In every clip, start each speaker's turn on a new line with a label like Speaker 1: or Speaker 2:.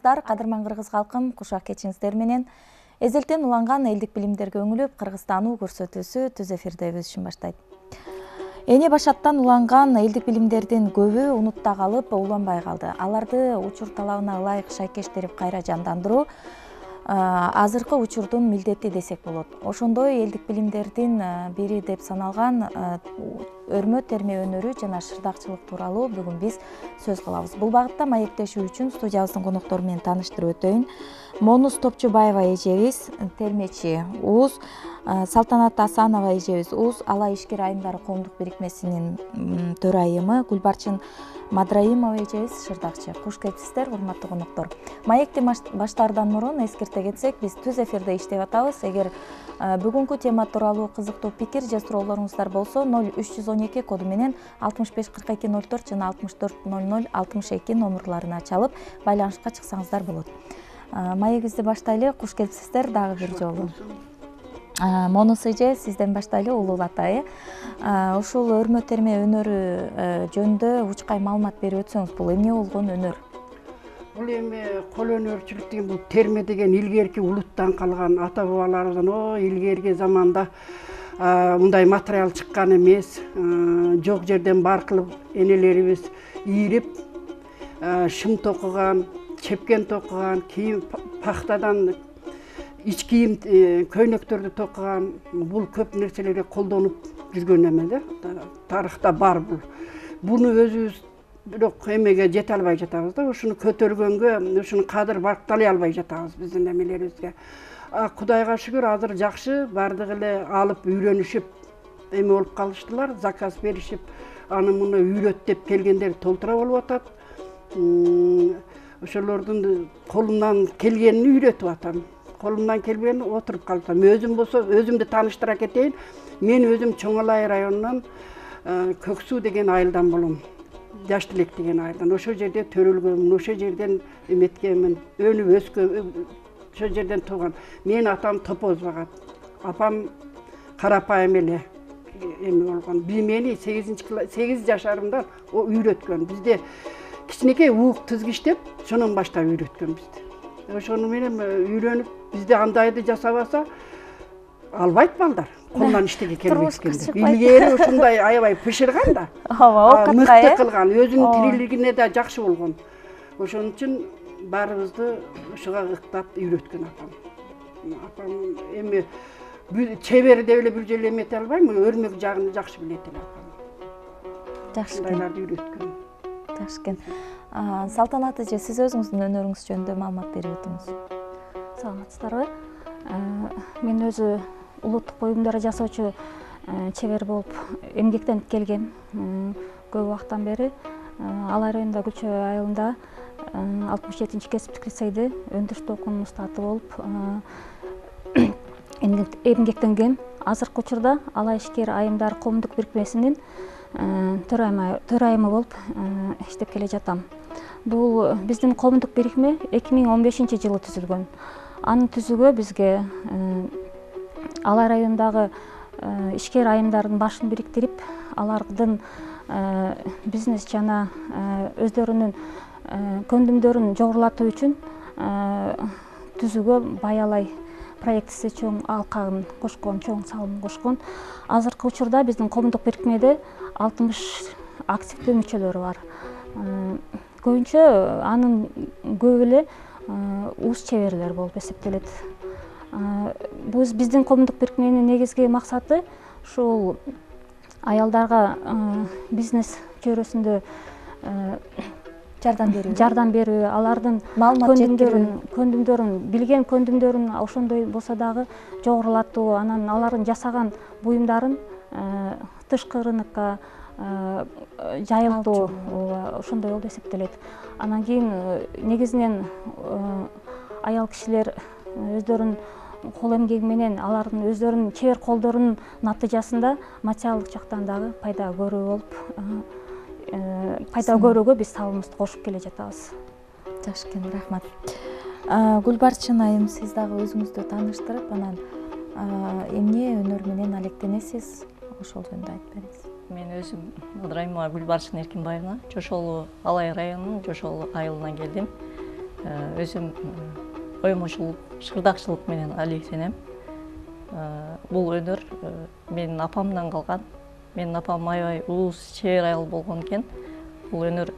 Speaker 1: саламатсыздар. Кадырман кыргыз калкым, кушак кечиңиздер менен эзелтен уланган элдик билимдерге өңүлүп, Кыргызстануу көрсөтүүсү түз эфирде өз ишин баштайт. Эне башаттан уланган элдик билимдердин көбү унутта калып, уланбай калды. Аларды учур талабына ылайык шайкештирип кайра жандандыруу азыркы учурдун милдети десек болот. Ошондой элдик билимдердин бири деп саналган өрмө терме өнөрү жана шырдакчылык тууралуу бүгүн биз сөз кылабыз. Бул багытта маектешүү үчүн студиябыздын коноктору менен тааныштырып өтөйүн. Монуз Топчубаева эжебиз, термечи УУЗ, Салтанат Асанова эжебиз УУЗ, Алай ишкер айымдары коомдук бирикмесинин төрайымы, Гүлбарчын Мадраимова эжебиз шырдакчы. Куш келипсиздер, урматтуу коноктор. Маекти баштаардан мурун эскерте кетсек, биз түз эфирде иштеп атабыз. Эгер бүгүнкү тема тууралуу кызыктуу пикир же суроолоруңуздар болсо, 0312 коду менен 65 42 04 жана 64 00 62 номерларына чалып байланышка чыксаңыздар болот. Маегибизди баштайлы. Куш келипсиздер дагы бир жолу. Монус эже, сизден баштайлы, улуу атайы. Ушул өрмө терме өнөрү жөнүндө учкай маалымат берип өтсөңүз, бул эмне болгон өнөр?
Speaker 2: Бул эми кол өнөрчүлүк деген бул терме деген илгерки улуттан калган, ата бабаларыбыздан илгерки заманда мындай материал чыккан эмес. Жок жерден бар кылып энелерибиз ийрип, шым токуган, чепкен токуган, кийим пахтадан ич кийим көйнөктөрдү токуган, бул көп нерселерге колдонуп жүргөн эме да. Тарыхта бар бул. Буну өзүбүз бирок эмеге жете албай жатабыз да. Ушуну көтөргөнгө, ушуну кадыр бакталай албай жатабыз биздин эмелерибизге. Кудайга шүгүр, азыр жакшы, бардыгы эле алып үйрөнүшүп эме болуп калыштылар, заказ беришип, аны муну үйрөт деп келгендер толтура болуп атат. Ошолордун колумдан келгенин үйрөтүп атам. Колумдан келбегени отуруп калсам. Өзүм болсо, өзүмдү тааныштыра кетейин. Мен өзүм Чоң Алай районунан Көксүү деген айылдан болом. Жаш Тилек деген айылдан. Ошол жерде төрөлгөм, ошол жерден эметкенмин, өнүп өскөм, ошол жерден тууган. Мен атам топоз багат. Апам карапайым эле эме болгон. Мени 8 жашарымда үйрөткөн. Бизде кичинекей уук тизгиштеп, шонун баштап үйрөткөн бизди. Ошону менен үйрөнүп, бизде андайды жасабаса албайт балдар. Колунан иштеге келбескенде. Илгери ушундай аябай пышырган да. Мыкты кылган, өзүнүн тирилигине да жакшы болгон. Ошон үчүн баарыбызды ушуга ыктап үйрөткөн апам. Апам эми чебер деп эле бир жолу эмете албайм, өрмөк жагын жакшы билет эле апам.
Speaker 1: Жакшы.
Speaker 2: Ушундайларды үйрөткөн.
Speaker 1: Жакшы экен. Салтанат эже, сиз өзүңүздүн өнөрүңүз жөнүндө маалымат берип өтүңүз.
Speaker 3: Саламатсыздарбы? Мен өзү улуттук буюмдар жасоочу чебер болуп эмгектенип келгем. Көп убакыттан бери Алай районунда Гүлчөй айылында 67-чи кесиптик лицейде өндүрүштүү окуунун устаты болуп эмгектенгем. Азыркы учурда Алай ишкер айымдар коомдук бирикмесинин төрайымы болуп иштеп келе жатам. Бул биздин коомдук бирикме 2015-жылы түзүлгөн. Аны түзүүгө бизге Алай районундагы ишкер айымдардын башын бириктирип, алардын бизнес жана өздөрүнүн көндүмдөрүн жогорулатуу үчүн түзүүгө Баялай проектиси чоң алкагын кошкон, чоң салымын кошкон. Азыркы учурда биздин коомдук бирикмеде 60 активдүү мүчөлөрү бар. Көбүнчө анын көбү эле УУЗ чеберлер болуп эсептелет. Биздин коомдук бирикменин негизги максаты ушул аялдарга бизнес чөйрөсүндө жардам берүү, алардын көндүмдөрүн, билген көндүмдөрүн ошондой болсо дагы жогорулатуу, анан алардын жасаган буюмдарын тышкы рынокко жайылтуу, ошондой болуп эсептелет. Анан кийин негизинен аял кишилер өздөрүнүн кол эмгеги менен алардын өздөрүнүн чебер колдорунун натыйжасында материалдык жактан дагы пайда көрүү болуп, пайда көрүүгө биз салымыбызды кошуп келе жатабыз.
Speaker 1: Жакшы экен, рахмат. Гүлбарчын айым, сиз дагы өзүңүздү тааныштырып, анан эмне өнөр менен алектенесиз, ошол жөнүндө айтып бериңиз.
Speaker 4: Мен өзүм Мадраимова Гүлбарчын Эркинбаевна, Жошолу Алай районунун Жошолу айылынан келдим. өзүм оймочулук, шырдакчылык менен алектенем. Бул өнөр менин апамдан калган. Менин апам аябай улуу чебер аял болгон экен. Бул өнөр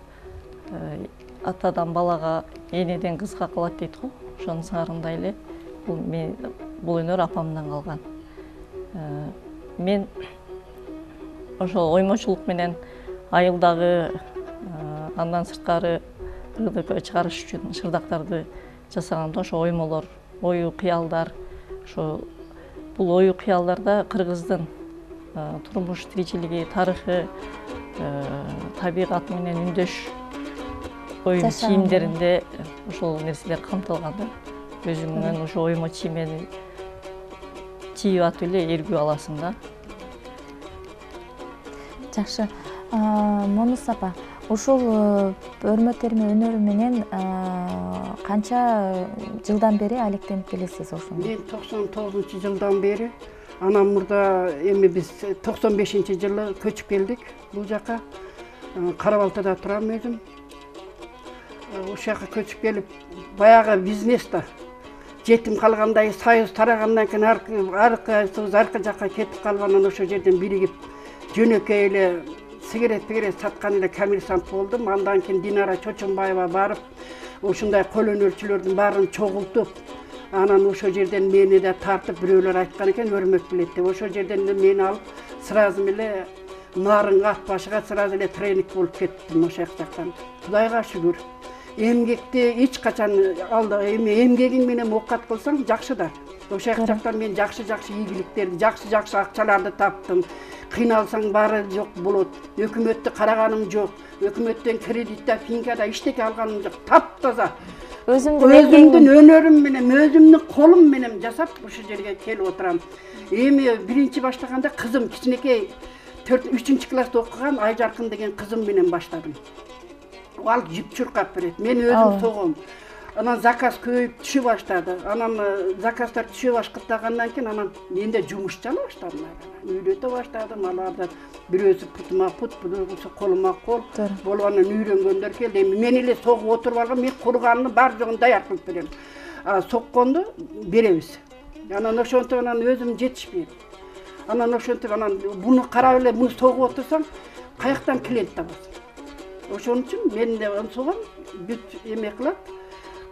Speaker 4: атадан балага, энеден кызга калат дейт го. Ошонун сыңарындай эле бул өнөр апамдан калган. Мен ошол оймочулук менен айылдагы, андан сырткары РДП чыгарыш үчүн шырдактарды жасаганда ошо оймолор, ою кыялдар, ошо бул ою кыялдарда кыргыздын турмуш тиричилиги, тарыхы, табигат менен үндөш оюн чийимдеринде ошол нерселер камтылган да. Өзүңнөн ошо оймо чиймени чийип атып эле эргүү аласың да.
Speaker 1: Жакшы. Монус апа, ушул өрмө терме өнөрү менен канча жылдан бери алектенип келесиз ошону?
Speaker 2: Мен 99-жылдан бери, анан мурда эми биз 95-жылы көчүп келдик бул жака. Кара-Балтада турам өзүм. Ошол жака көчүп келип, баягы бизнес да жетим калгандай, союз тарагандан кийин аркы жака кетип калып, анан ошол жерден биригип жөнөкөй эле сигарет саткан эле коммерсант болдум. Андан кийин Динара Чочонбаева барып, ушундай кол өнөрчүлөрдүн баарын чогултуп, анан ошол жерден мени да тартып, бирөөлөр айткан экен өрмөк билет деп. Ошол жерден мени алып, сразу эле нарынга, ат башыга сразу эле тренинг болуп кеттим ошол жактан. Кудайга шүгүр. Эмгекти эч качан эми эмгегиң менен оокат кылсаң жакшы да. Ошол жактан мен жакшы ийгиликтерди, жакшы акчаларды таптым. Кыйналсаң баары жок болот. Өкмөттү караганым жок. Өкмөттөн кредитте, финкада иштеке алганым жок. Таптаза. Өзүмдүн өнөрүм менен, өзүмдүн колум менен жасап ушул жерге келип отурам. Эми биринчи баштаганда кызым кичинекей 3-ч класста окуган Айжаркын деген кызым менен баштадым. Ал жип чуркап берет. Мен өзүм согом. Анан заказ көбөйүп түшө баштады. Анан заказдар түшө баштагандан кийин анан менде жумуш жана баштадым. Үйрөтө баштадым. Алардан бирөөсү путума пут, бирөөсү колума кол болуп анан үйрөнгөндөр келди. Эми мен эле согуп отуруп алгам, мен курганын бар жогун даяр кылып берем. Сокконду беребиз. Анан ошентип анан өзүм жетишпейт. Анан ошентип анан буну карап эле муну согуп отурсаң, каяктан клиент табасың? Ошон үчүн мен да согом, бүт эме кылат.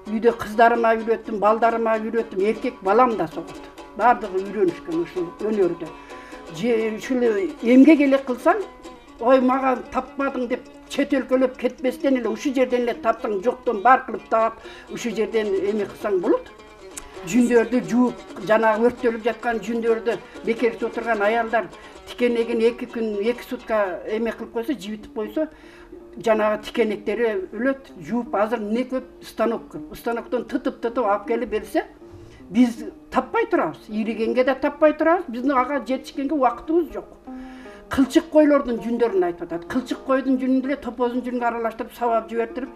Speaker 2: Үйдө кыздарыма үйрөттүм, балдарыма үйрөттүм, эркек балам да согот. Бардыгы үйрөнүшкөн ушул өнөрдө. Ушул эмгек эле кылсаң, ой мага таппадың деп чет өлкөлөп кетпестен эле ушул жерден эле таптың, жоктон бар кылып таап, ушул жерден эме кылсаң болот. Жүндөрдү жууп, жанагы өрттөлүп жаткан жүндөрдү бекерсиз отурган аялдар тикенегин 2 күн 2 сутка эме кылып койсо, жибитип койсо, жанагы тикенектери өлөт. Жууп азыр эмне көп? Станок көп. Станоктон тытып алып келип берсе, биз таппай турабыз. Иригенге да таппай турабыз. Биздин ага жетишкенге убактыбыз жок. Кылчык койлордун жүндөрүн айтып атат. Кылчык койдун жүнүн деле топоздун жүнүн аралаштырып, сабап жибертирип,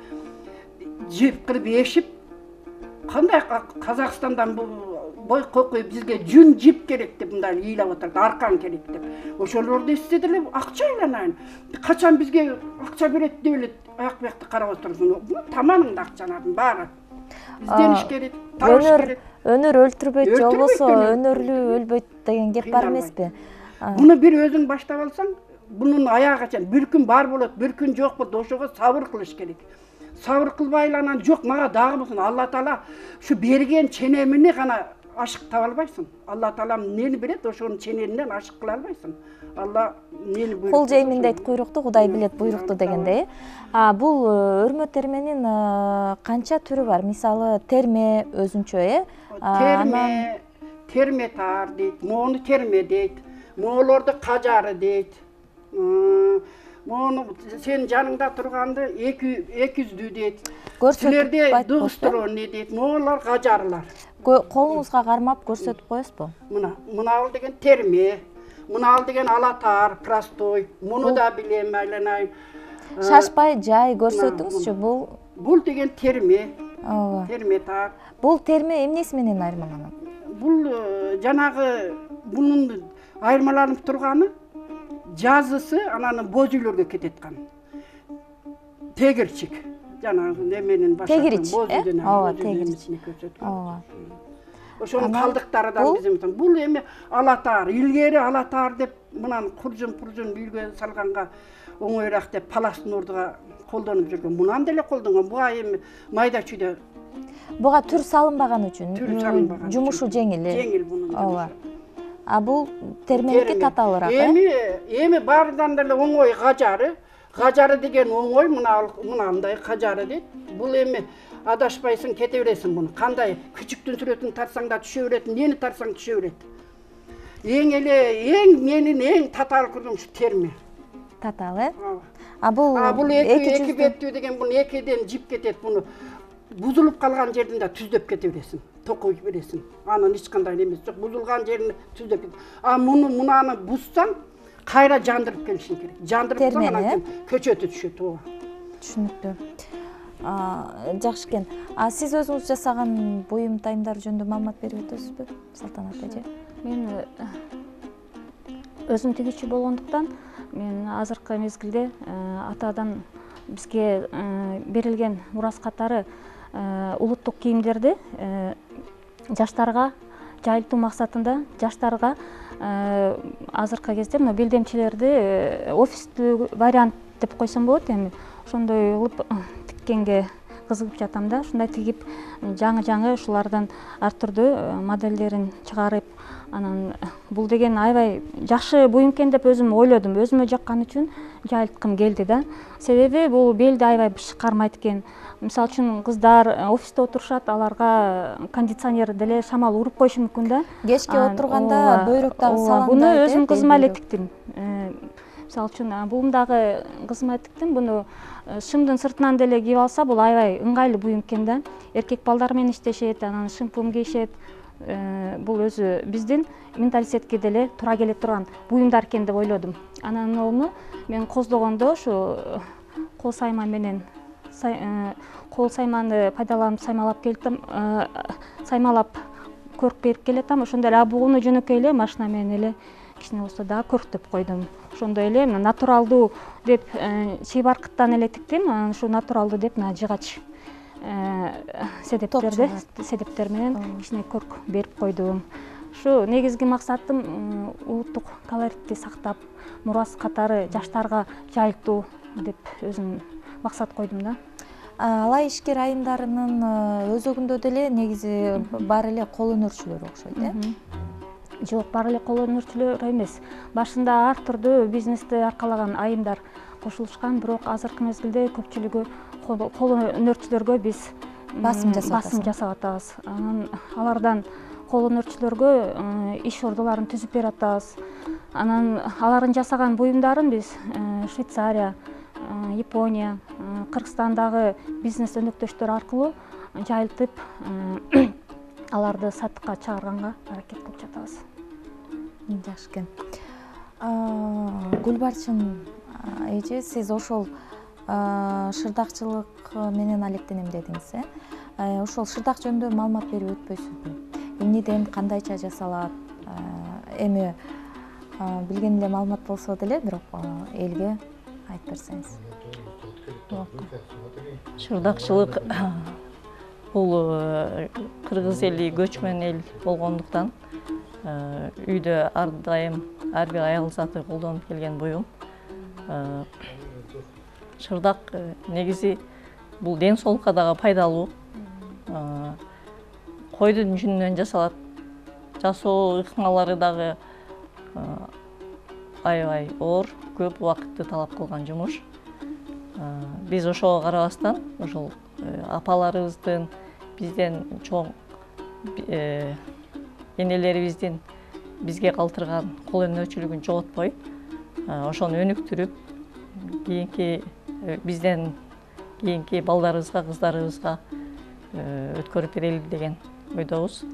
Speaker 2: жип кылып ешип, кандай Казакстандан бой кокуй бизге жүн жип керек деп мындай ыйлап отурат, аркан керек деп. Ошолорду эстеди эле акча айланайын. Качан бизге акча берет деп эле аяк бuyakты карап отурсуң. Таманыңда акчанардын баары. Издениш керек, табыш керек.
Speaker 1: Өнөр өлтүрбөйт же болбосо өнөрлүү өлбөйт деген кеп бар эмеспи?
Speaker 2: Буну бир өзүң баштап алсаң, бунун аягы бир күн бар болот, бир күн жок болот. Ошого сабыр кылыш керек. Сабыр кылбай анан жок мага дагы болсун. Алла Таала ушу берген ченемини гана ашык таба албайсың. Алла Таалам эмнени берет, ошонун чененинен ашык кыла албайсың. Алла эмнени буйруп.
Speaker 1: Кол жеймин дейт куйрукту, Кудай билет буйрукту дегендей. Бул өрмө терменин канча түрү бар? Мисалы, терме өзүнчө,
Speaker 2: терме таар дейт, мону терме дейт, моолорду кажары дейт. Мону сен жаныңда турганды 200дүү дейт. Силерде дыгыстыроону дейт, моолор кажарлар.
Speaker 1: Колуңузга кармап көрсөтүп коесузбу?
Speaker 2: Мына деген терме, мына деген алатаар, простой. Муну да билем, айланайын.
Speaker 1: Шашпай жай көрсөтүңүзчү,
Speaker 2: бул деген терме. Терме таар.
Speaker 1: Бул терме эмнеси менен айырмаланат?
Speaker 2: Бул жанагы бунун айырмаланып турганы жазысы анан боз үйлөргө кетет экен. Тегерчик. жанагы неменин
Speaker 1: тегирич,
Speaker 2: боз үйдөн
Speaker 1: ооба, тегирич. Ооба.
Speaker 2: Ошонун калдыктарынан биздин бул эми алатаар, илгери алатаар деп мынан куржун үйгө салганга оңоюраак деп паластын ордуга колдонуп жүргөн. Мунан деле колдонгон. Буга эми майда чүйдө
Speaker 1: Буга түр салынбаган үчүн жумушу жеңил.
Speaker 2: Жеңил бунун.
Speaker 1: Ооба. А бул терменики татаалыраак.
Speaker 2: Эми баарынан деле оңой кажары. Кажары деген оңой, мынандай кажары дейт. Бул эми адашпайсың, кете бересиң буну. Кандай күчүктүн сүрөтүн тарсаң да түшө берет, нени тарсаң түшө берет. Менин эң татаал көргөнүм ушу терме.
Speaker 1: Татаал, А бул
Speaker 2: эки беттүү деген буну экиден жип кетет, буну бузулуп калган жерден да түздөп кете бересиң. Токой бересиң. Анын эч кандай эмеси жок. Бузулган жерин түздөп кет. Мунаны бузсаң, кайра жандырып келишиң керек. Жандырып анан көчөтү түшөт. Ооба.
Speaker 1: Түшүнүктүү. Жакшы экен. Сиз өзүңүз жасаган буюм тайымдар жөнүндө маалымат берип өтөсүзбү, Салтанат эже?
Speaker 3: Мен өзүм тигичи болгондуктан мен азыркы мезгилде атадан бизге берилген мурас катары улуттук кийимдерди жаштарга жайылтуу максатында жаштарга азыркы кезде мына белдемчилерди офистүү вариант деп койсом болот, эми ошондой кылып тиккенге кызыгып жатам да. Ушундай тигип жаңы ушулардан ар түрдүү модельдерин чыгарып, анан бул деген аябай жакшы буюм экен деп өзүм ойлодум. Өзүмө жаккан үчүн жайылткым келди да. Себеби бул белди аябай кармайт экен. Мисалы үчүн кыздар офисте отурушат, аларга кондиционер деле шамал уруп коюшу мүмкүн да.
Speaker 1: Кечке отурганда бөйрөк дагы салаңдайт.
Speaker 3: Буну өзүм кызыма эле тиктим. Мисалы үчүн булум дагы кызыма тиктим. Буну шымдын сыртынан деле кийип алса, бул аябай ыңгайлуу буюм экен да. Эркек балдар менен иштешет, анан шымпун кийишет. Бул өзү биздин менталитетке деле туура келе турган буюмдар экен деп ойлодум. Анан ону мен коздогондо ушу кол сайма менен кол сайманы пайдаланып саймалап келдим, саймалап көрүп берип келатам. Ошондой эле бугуну жөнөкөй эле машина менен эле кичине болсо да көрктөп койдум. Ошондой эле натуралдуу деп чий баркыттан эле тиктим. Анан ушу натуралдуу деп жыгач седептер менен кичине көрк берип койдум. Ушу негизги максатым улуттук колоритти сактап, мурас катары жаштарга жайылтуу деп өзүм максат койдум да.
Speaker 1: Алай ишкер айымдарынын өзөгүндө деле негизи баары эле кол өнөрчүлөр окшойт,
Speaker 3: Жок, баары эле кол өнөрчүлөр эмес. Башында ар түрдүү бизнести аркалаган айымдар кошулушкан, бирок азыркы мезгилде көпчүлүгү кол өнөрчүлөргө биз басым жасап атабыз. Анан алардан кол өнөрчүлөргө иш ордолорун түзүп берип атабыз. Анан алардын жасаган буюмдарын биз Швейцария, Япония, Кыргызстандагы бизнес өнөктөштөр аркылуу жайылтып аларды сатыкка чыгарганга аракет кылып жатабыз.
Speaker 1: Жакшы экен. Гүлбарчын эже, сиз ошол шырдакчылык менен алектенем дедиңиз, ошол шырдак жөнүндө маалымат берип өтпөйсүзбү? Эмнеден кандайча жасалат? Эми билген эле маалымат болсо деле, бирок элге айтып берсеңиз.
Speaker 4: Шырдакчылык бул кыргыз эли көчмөн эл болгондуктан үйдө ар дайым ар бир аял заты колдонуп келген буюм. Шырдак негизи бул ден соолукка дагы пайдалуу. Койдун жүнүнөн жасалат. Жасоо ыкмалары дагы аябай оор, көп убакытты талап кылган жумуш. Биз ошого карабастан, ошол апаларыбыздын, бизден чоң энелерибиздин бизге калтырган кол өнөрчүлүгүн жоготпой, ошону өнүктүрүп, бизден кийинки балдарыбызга, кыздарыбызга өткөрүп берели деген ойдобуз.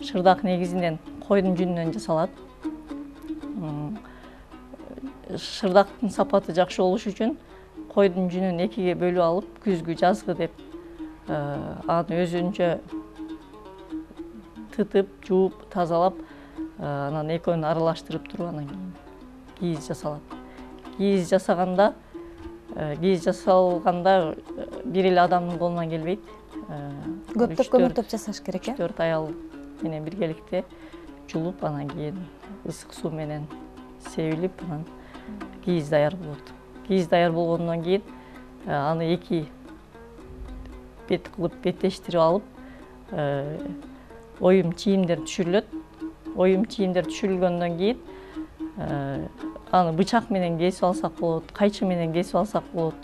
Speaker 4: Шырдак негизинен койдун жүнүнөн жасалат. Шырдактын сапаты жакшы болуш үчүн койдун жүнүн экиге бөлүп алып, күзгү, жазгы деп аны өзүнчө тытып, жууп, тазалап, анан экөөнү аралаштырып туруп, анан кийин кийиз жасалат. Кийиз жасаганда кийиз жасалганда бир эле адамдын колунан келбейт.
Speaker 1: Көптөп көмүктөп жасаш керек,
Speaker 4: 4 аял менен биргеликте жулуп, анан кийин ысык суу менен себилип, анан кийиз даяр болот. Кийиз даяр болгондон кийин аны 2 бет кылып беттештирип алып, оюм чийимдер түшүрүлөт. Оюм чийимдер түшүрүлгөндөн кийин аны бычак менен кесип алсак болот, кайчы менен кесип алсак болот.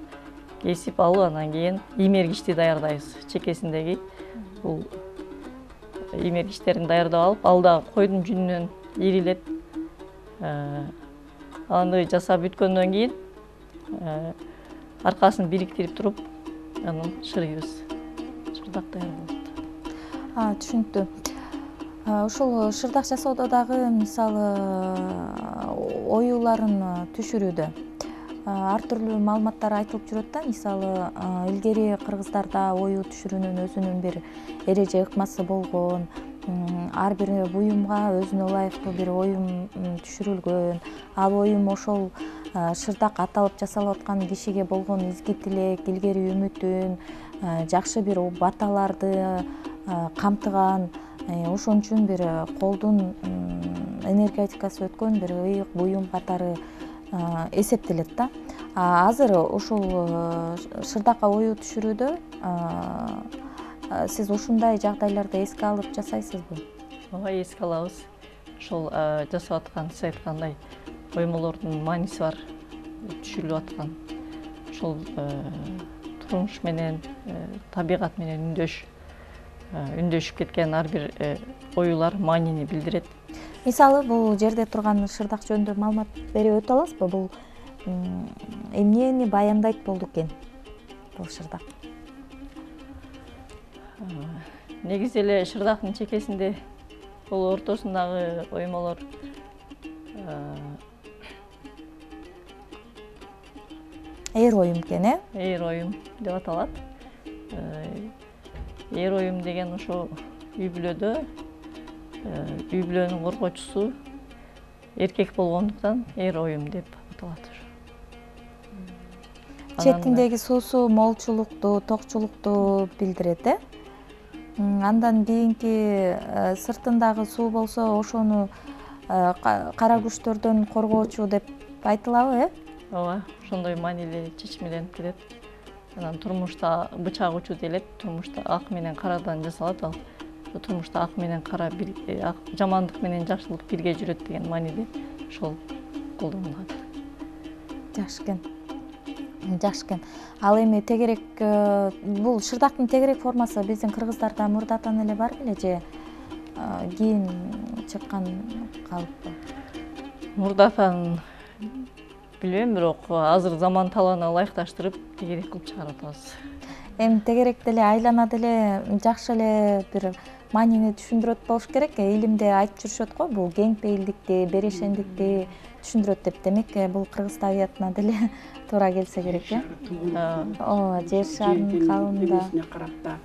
Speaker 4: Кесип алып, анан кийин имергичти даярдайбыз. Чекесиндеги бул имергичтерин даярдап алып, ал да койдун жүнүнөн ирилет. Аны жасап бүткөндөн кийин аркасын бириктирип туруп, анан шырыйбыз. Шырдак даяр болот.
Speaker 1: Түшүнүктүү. Ушул шырдак жасоодо дагы мисалы оюларын түшүрүүдө ар түрлүү маалыматтар айтылып жүрөт да. Мисалы илгери кыргыздарда ою түшүрүүнүн өзүнүн бир эреже ыкмасы болгон, ар бир буюмга өзүнө ылайыктуу бир оюм түшүрүлгөн. Ал оюм ошол шырдак аталып жасалып аткан кишиге болгон изги тилек, илгери үмүтүн, жакшы бир баталарды камтыган, ошон үчүн бир колдун энергетикасы өткөн бир ыйык буюм катары эсептелет да. Азыр ушул шырдакка ою түшүрүүдө сиз ушундай жагдайларды эске алып жасайсызбы?
Speaker 4: Ооба, эске алабыз. Ошол жасап аткан, сиз айткандай оймолордун мааниси бар, түшүрүлүп аткан. Ошол турмуш менен, табигат менен үндөшүп кеткен ар бир оюлар маанини билдирет.
Speaker 1: Мисалы, бул жерде турган шырдак жөнүндө маалымат берип өтө аласызбы? Бул эмнени баяндайт болду экен бул шырдак?
Speaker 4: Негизи эле шырдактын чекесинде, бул ортосундагы оймолор
Speaker 1: Эр оюм экен,
Speaker 4: Эр оюм деп аталат. Эр оюм деген ошо үй-бүлөдө үй бүлөнүн коргоочусу эркек болгондуктан эр оюм деп аталат.
Speaker 1: Четиндеги суусу молчулукту, токчулукту билдирет, Андан кийинки сыртындагы суу болсо ошону кара күчтөрдөн коргоочу деп айтылабы,
Speaker 4: Ооба, ошондой маанилүү чечмеленип кетет. Анан турмушта бычак учу делет, турмушта ак менен карадан жасалат ал. Турмушта ак менен кара жамандык менен жакшылык бирге жүрөт деген мааниде ошол колдонулат.
Speaker 1: Жакшы экен. Жакшы экен. Ал эми тегерек бул шырдактын тегерек формасы биздин кыргыздарда мурдатан эле бар беле же кийин чыккан калыппы?
Speaker 4: Мурдатан билбейм, бирок азыр заман талабына ылайыкташтырып тегерек кылып чыгарып атабыз.
Speaker 1: Эми тегерек деле айлана деле жакшы эле бир маанини түшүндүрөт болуш керек. Илимде айтып жүрүшөт го, бул кең пейилдикти, берешендикти түшүндүрөт деп. Демек, бул кыргыз табиятына деле туура келсе керек, Ооба, жер шарынын калыбында
Speaker 2: карап да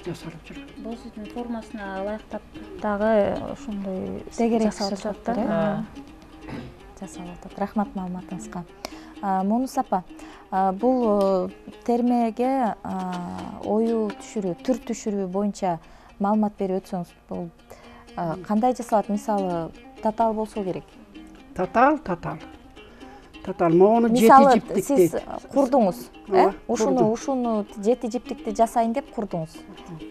Speaker 2: жасалып жүр.
Speaker 3: Бул сиздин формасына ылайыктап дагы ошондой
Speaker 1: тегерек
Speaker 3: жасалып
Speaker 1: шырдак
Speaker 3: жатат.
Speaker 1: жасалып атат. Рахмат маалыматыңызга. Мунус апа, бул термеге ою түшүрүү, түр түшүрүү боюнча маалымат берип өтсөңүз, бул кандай жасалат? Мисалы, татаал болсо керек.
Speaker 2: Татаал. Могуну жети
Speaker 1: Мисалы,
Speaker 2: жиптик
Speaker 1: сиз
Speaker 2: дейт.
Speaker 1: курдуңуз,
Speaker 2: курдум.
Speaker 1: ушуну жети жиптикти жасайын деп курдуңуз.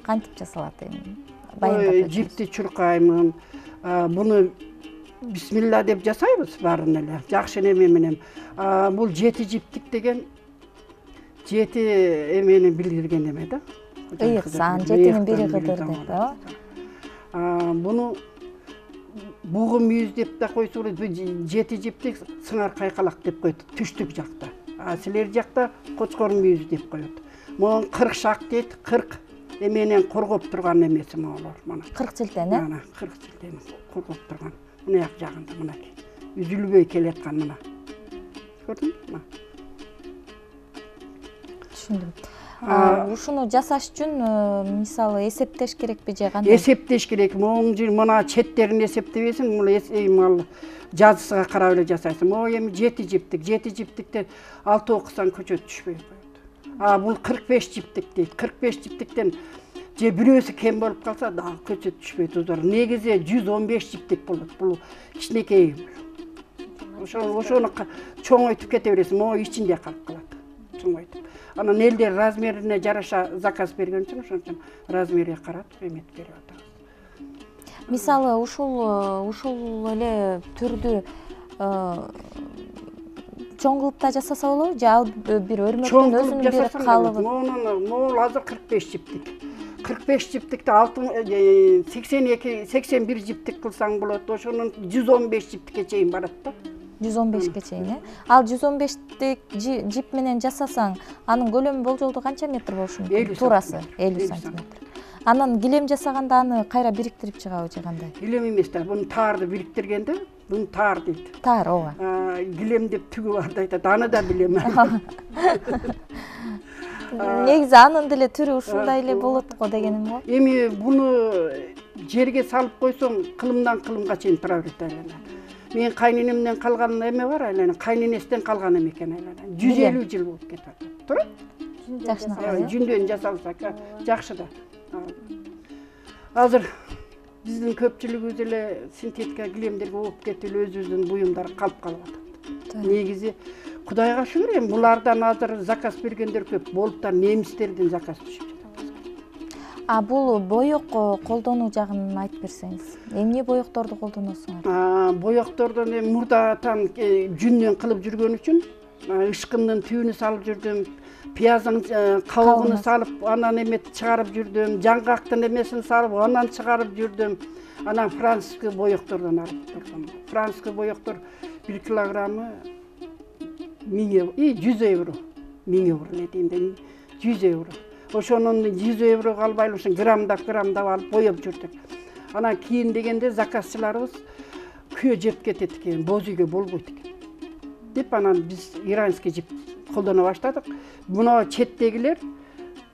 Speaker 1: Кантип жасалат эми? Баяндап өтүңүз.
Speaker 2: Жипти чуркаймын. Буну бисмилла деп жасайбыз баарын эле. Жакшы неме менен. Бул жети жиптик деген жети эмени билдирген эме да.
Speaker 1: Ыйык сан, жетинин бири кыдыр деп,
Speaker 2: Буну бугу мүйүз деп да койсо болот. Жети жиптик сыңар кайкалак деп коет түштүк жакта. Силер жакта кочкор мүйүз деп коет. Могу 40 шак дейт, 40 эменен коргоп турган эмеси моголор. Мына
Speaker 1: 40 жилден,
Speaker 2: Мына 40 жилден коргоп турган. Мына жагында мына үзүлбөй келаткан мына. Көрдүңбү?
Speaker 1: Түшүндүм. Ушуну жасаш үчүн мисалы эсептеш керекпи же кандай?
Speaker 2: Эсептеш керек. Мына четтерин эсептебесиң, бул жазысыга карап эле жасайсың. Эми 7 жиптик, 7 жиптиктен 6 окусаң көчөт түшпөй коет. Бул 45 жиптик дейт. 45 жиптиктен же бирөөсү кем болуп калса, дагы көчөт түшпөйт узор. Негизи 115 жиптик болот. Бул кичинекей. Ошону чоңойтуп кете бересиң, могу ичинде калып калат. Чоңойтуп. Анан элдер размерине жараша заказ берген үчүн ошон үчүн размерине карап эметип берип атабыз.
Speaker 1: Мисалы ушул эле түрдү чоң кылып да жасаса болобу же ал бир өрмөктөн өзүнүн бир калыбы?
Speaker 2: Могул азыр 45 жиптик. 45 жиптикти 81 жиптик кылсаң болот. Ошонун 115 жиптикке чейин барат да.
Speaker 1: 115ке чейин, Ал 115тик жип менен жасасаң, анын көлөмү болжолдо канча метр болушу мүмкүн? Туурасы 50 сантиметр. Анан килем жасаганда аны кайра бириктирип чыгабы же кандай?
Speaker 2: Килем эмес да, буну таарды бириктиргенде, буну таар дейт.
Speaker 1: Таар, ооба.
Speaker 2: Килем деп түгү бар да айтат, аны да билем.
Speaker 1: Негизи анын деле түрү ушундай эле болот го дегеним го.
Speaker 2: Эми буну жерге салып койсоң, кылымдан кылымга чейин тура берет айлана. Мен кайненемден калган эме бар айлана, кайненесинен калган эме экен айлана. 150 жыл болуп кетет. Турат?
Speaker 1: Жакшынакай.
Speaker 2: Жүндөн жасалса жакшы да. Азыр биздин көпчүлүгүбүз эле синтетика килемдерге ооп кетип, өзүбүздүн буюмдар калып калып атат. Негизи Кудайга шүгүр, эми булардан азыр заказ бергендер көп, болуп да немистерден заказ түшүп жатат.
Speaker 1: Бул боек колдонуу жагын айтып берсеңиз. Эмне боекторду колдоносуңар?
Speaker 2: Боектордон эми мурдатан жүндөн кылып жүргөн үчүн ышкындын түбүнү салып жүрдүм, пияздын кабыгын салып, анан эмет чыгарып жүрдүм, жаңгактын эмесин салып, анан чыгарып жүрдүм. Анан французский боектордон алып турдум. Французский боектор 1 килограммы 100 евро. 1000 евро не дейм, 100 евро. Ошонун 100 еврого албай ошо граммдап алып боеп жүрдүк. Анан кийин дегенде заказчыларыбыз күйө жеп кетет экен, боз үйгө болбойт экен деп, анан биз иранский жип колдоно баштадык. Муну четтегилер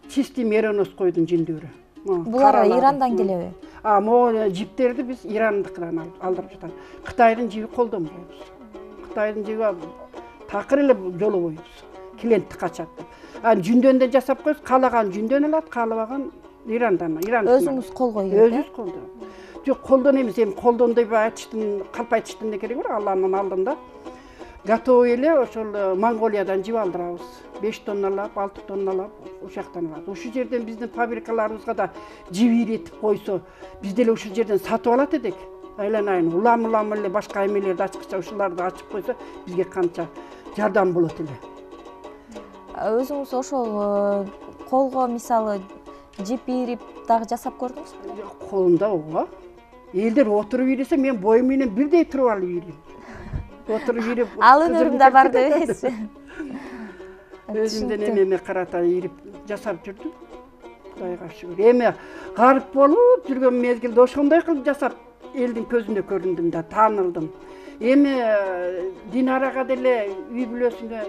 Speaker 2: чистый меренос койдун жүндөрү.
Speaker 1: Булар Ирандан келеби?
Speaker 2: Могу жиптерди биз Ирандыкынан алдырып жатат. Кытайдын жиби колдонбойбуз. Кытайдын жиби такыр эле жолобойбуз. Клиентти качат деп. Жүндөн да жасап койсоң, каалаган жүндөн алат, каалабаган Ирандан.
Speaker 1: Өзүңүз кол коюп,
Speaker 2: өзүбүз колдон. Жок, колдон эмес, эми колдон деп айтыштын, калп айтыштын да кереги бар, Алланын алдында. Готовый эле ошол Монголиядан жип алдырабыз. 5 тонналап, 6 тонналап ошол жактан алат. Ушул жерден биздин фабрикаларыбызга да жип ийретип койсо, биз деле ушул жерден сатып алат эдик. Айланайын, улам эле башка эмелерди ачкыча ушуларды ачып койсо, бизге канча жардам болот эле.
Speaker 1: Өзүңүз ошол колго мисалы жип ийрип дагы жасап көрдүңүзбү?
Speaker 2: Колумда ооба. Элдер отуруп ийресе, мен боюм менен бирдей туруп алып ийрейм. Отуруп ийрип.
Speaker 1: Ал өнөрүм да бар дебесизби?
Speaker 2: Өзүмдөн эме карата ийрип жасап жүрдүм. Кудайга шүгүр. Эми гарып болуп жүргөн мезгилде ошондой кылып жасап элдин көзүндө көрүндүм да, таанылдым. Эми Динарага деле үй бүлөсүнө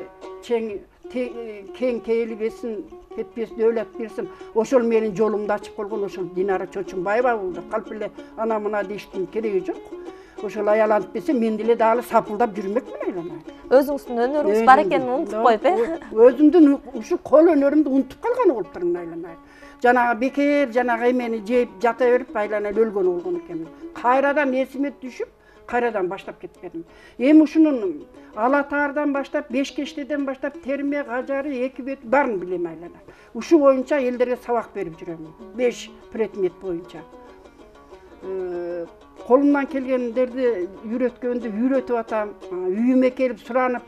Speaker 2: кең кейилбесин, кетпесин, өлөт берсин. Ошол менин жолумду ачып койгон ошол Динара Чочунбаева болду. Калп эле ана мына дештин кереги жок. Ошол аяланып берсе, мен деле дагы сапылдап жүрмөкмүн айлана.
Speaker 1: Өзүңүздүн өнөрүңүз бар экенин унутуп коюп,
Speaker 2: Өзүмдүн ушу кол өнөрүмдү унутуп калган болуп турмун айлана. Жанагы бекер, жанагы эмени жеп жата берип айлана өлгөн болгон экенмин. Кайрадан эсиме түшүп, кайрадан баштап кеткенмин. Эми ушунун Алатаардан баштап, Бешкештеден баштап, терме, кажары, эки бет баарын билем айлана. Ушу боюнча элдерге сабак берип жүрөм. 5 предмет боюнча. Колумдан келгендерди үйрөтүп атам. Үйүмө келип суранып,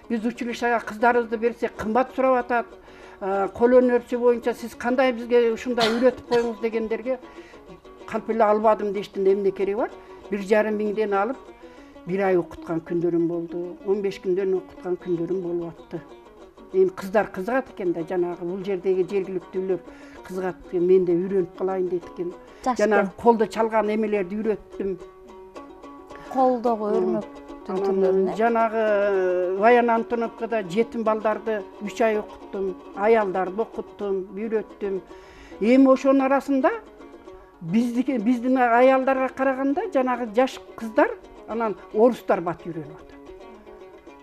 Speaker 2: биз училищага кыздарыбызды берсек, кымбат сурап атат. Кол өнөрчү боюнча сиз кандай бизге ушундай үйрөтүп коюңуз дегендерге калп эле албадым дештин, эмне кереги бар? 1,5 миңден алып 1 ай окуткан күндөрүм болду. 15 күндөн окуткан күндөрүм болуп атты. Эми кыздар кызыгат экен да, жанагы бул жердеги жергиликтүүлөр кызыгат экен, мен да үйрөнүп калайын дейт экен. Жанагы колдо чалган эмелерди үйрөттүм.
Speaker 1: Колдогу өрмөк үйрөтүүнүн түрлөрүн.
Speaker 2: Жанагы Баян Антоновкада жетим балдарды 3 ай окуттум, аялдарды окуттум, үйрөттүм. Эми ошонун арасында биздин аялдарга караганда жанагы жаш кыздар анан орустар бат үйрөнүп атат.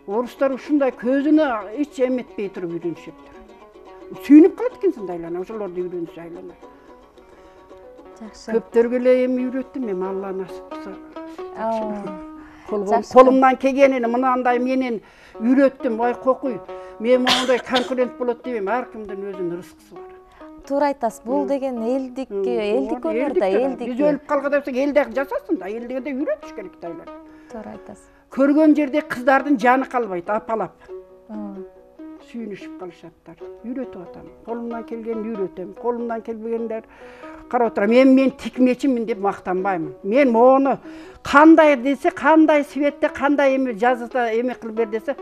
Speaker 2: Орустар ушундай көзүнө эч эметпей туруп үйрөнүшөттүр. Сүйүнүп калат экенсиң да айлана, ошолорду үйрөнүшү айлана.
Speaker 1: Жакшы.
Speaker 2: Көптөргө эле эми үйрөттүм, эми Алла насип кылса. Колумдан келгенин мынандай менен үйрөттүм, ой кокуй. Мен мондай конкурент болот дейм, ар кимдин өзүнүн рызкысы бар.
Speaker 1: Туура айтасыз. Бул деген элдик өнөр да, элдик.
Speaker 2: Биз өлүп калганда элде жашасын да, элдиге да үйрөтүш керек да айлар.
Speaker 1: Туура айтасыз.
Speaker 2: Көргөн жерде кыздардын жаны калбайт, апалап. Сүйүнүшүп калышаттар. Үйрөтүп атам. Колумдан келгенин үйрөтөм. Колумдан келбегендер карап отурам. Мен тикмечимин деп мактанбаймын. Мен мону кандай десе, кандай светте, кандай эме жазыда эме кылып бер десе,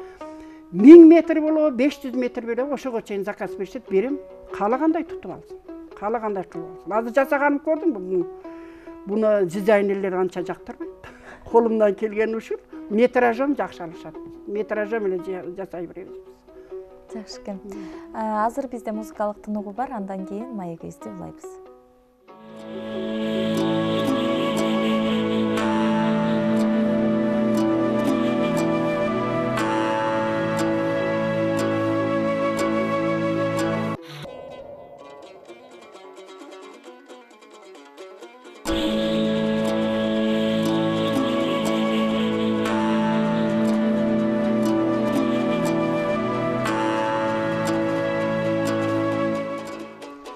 Speaker 2: 1000 метр болобу, 500 метр болобу, ошого чейин заказ беришет, берем. Каалагандай тутуп алсын. Каалагандай кылып алсын. Азыр жасаганым көрдүңбү? Буну дизайнерлер анча жактырбайт. Колумдан келген ушул. Метражом жакшы алышат. Метражом эле жасай беребиз.
Speaker 1: Жакшы экен. Азыр бизде музыкалык тынугу бар, андан кийин маегибизди улайбыз.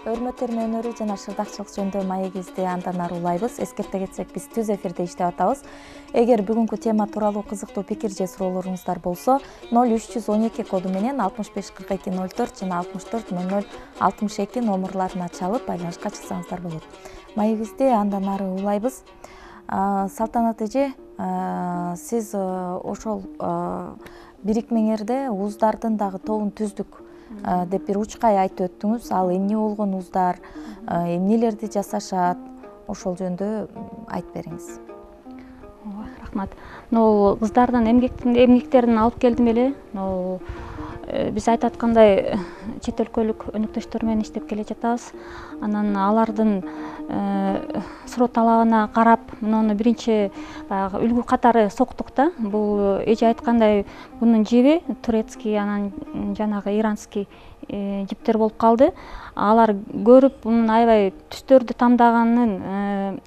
Speaker 1: Өрмөтөрмө өнөрү жана шырдакчылык жөнүндө маегибизди андан ары улайбыз. Эскерте кетсек, биз түз эфирде иштеп атабыз. Эгер бүгүнкү тема тууралуу кызыктуу пикир же суроолоруңуздар болсо, 0312 коду менен 654204 жана 640062 номерларына чалып байланышка чыксаңыздар болот. Маегибизди андан ары улайбыз. Салтанат эже, сиз ошол бирикмеңерде уздардын дагы тобун түздүк деп бир учкай айтып өттүңүз. Ал эмне болгон уздар, эмнелерди жасашат, ошол жөнүндө айтып бериңиз.
Speaker 3: Рахмат. Кыздардын эмгектерин алып келдим эле. Биз айтып аткандай чет өлкөлүк өнөктөштөр менен иштеп келе жатабыз. Анан алардын суроо талабына карап, муну биринчи баягы үлгү катары соктук да. Бул эже айткандай, бунун жиби турецкий, анан жанагы иранский жиптер болуп калды. Алар көрүп, мунун аябай түстөрдү тандаганын,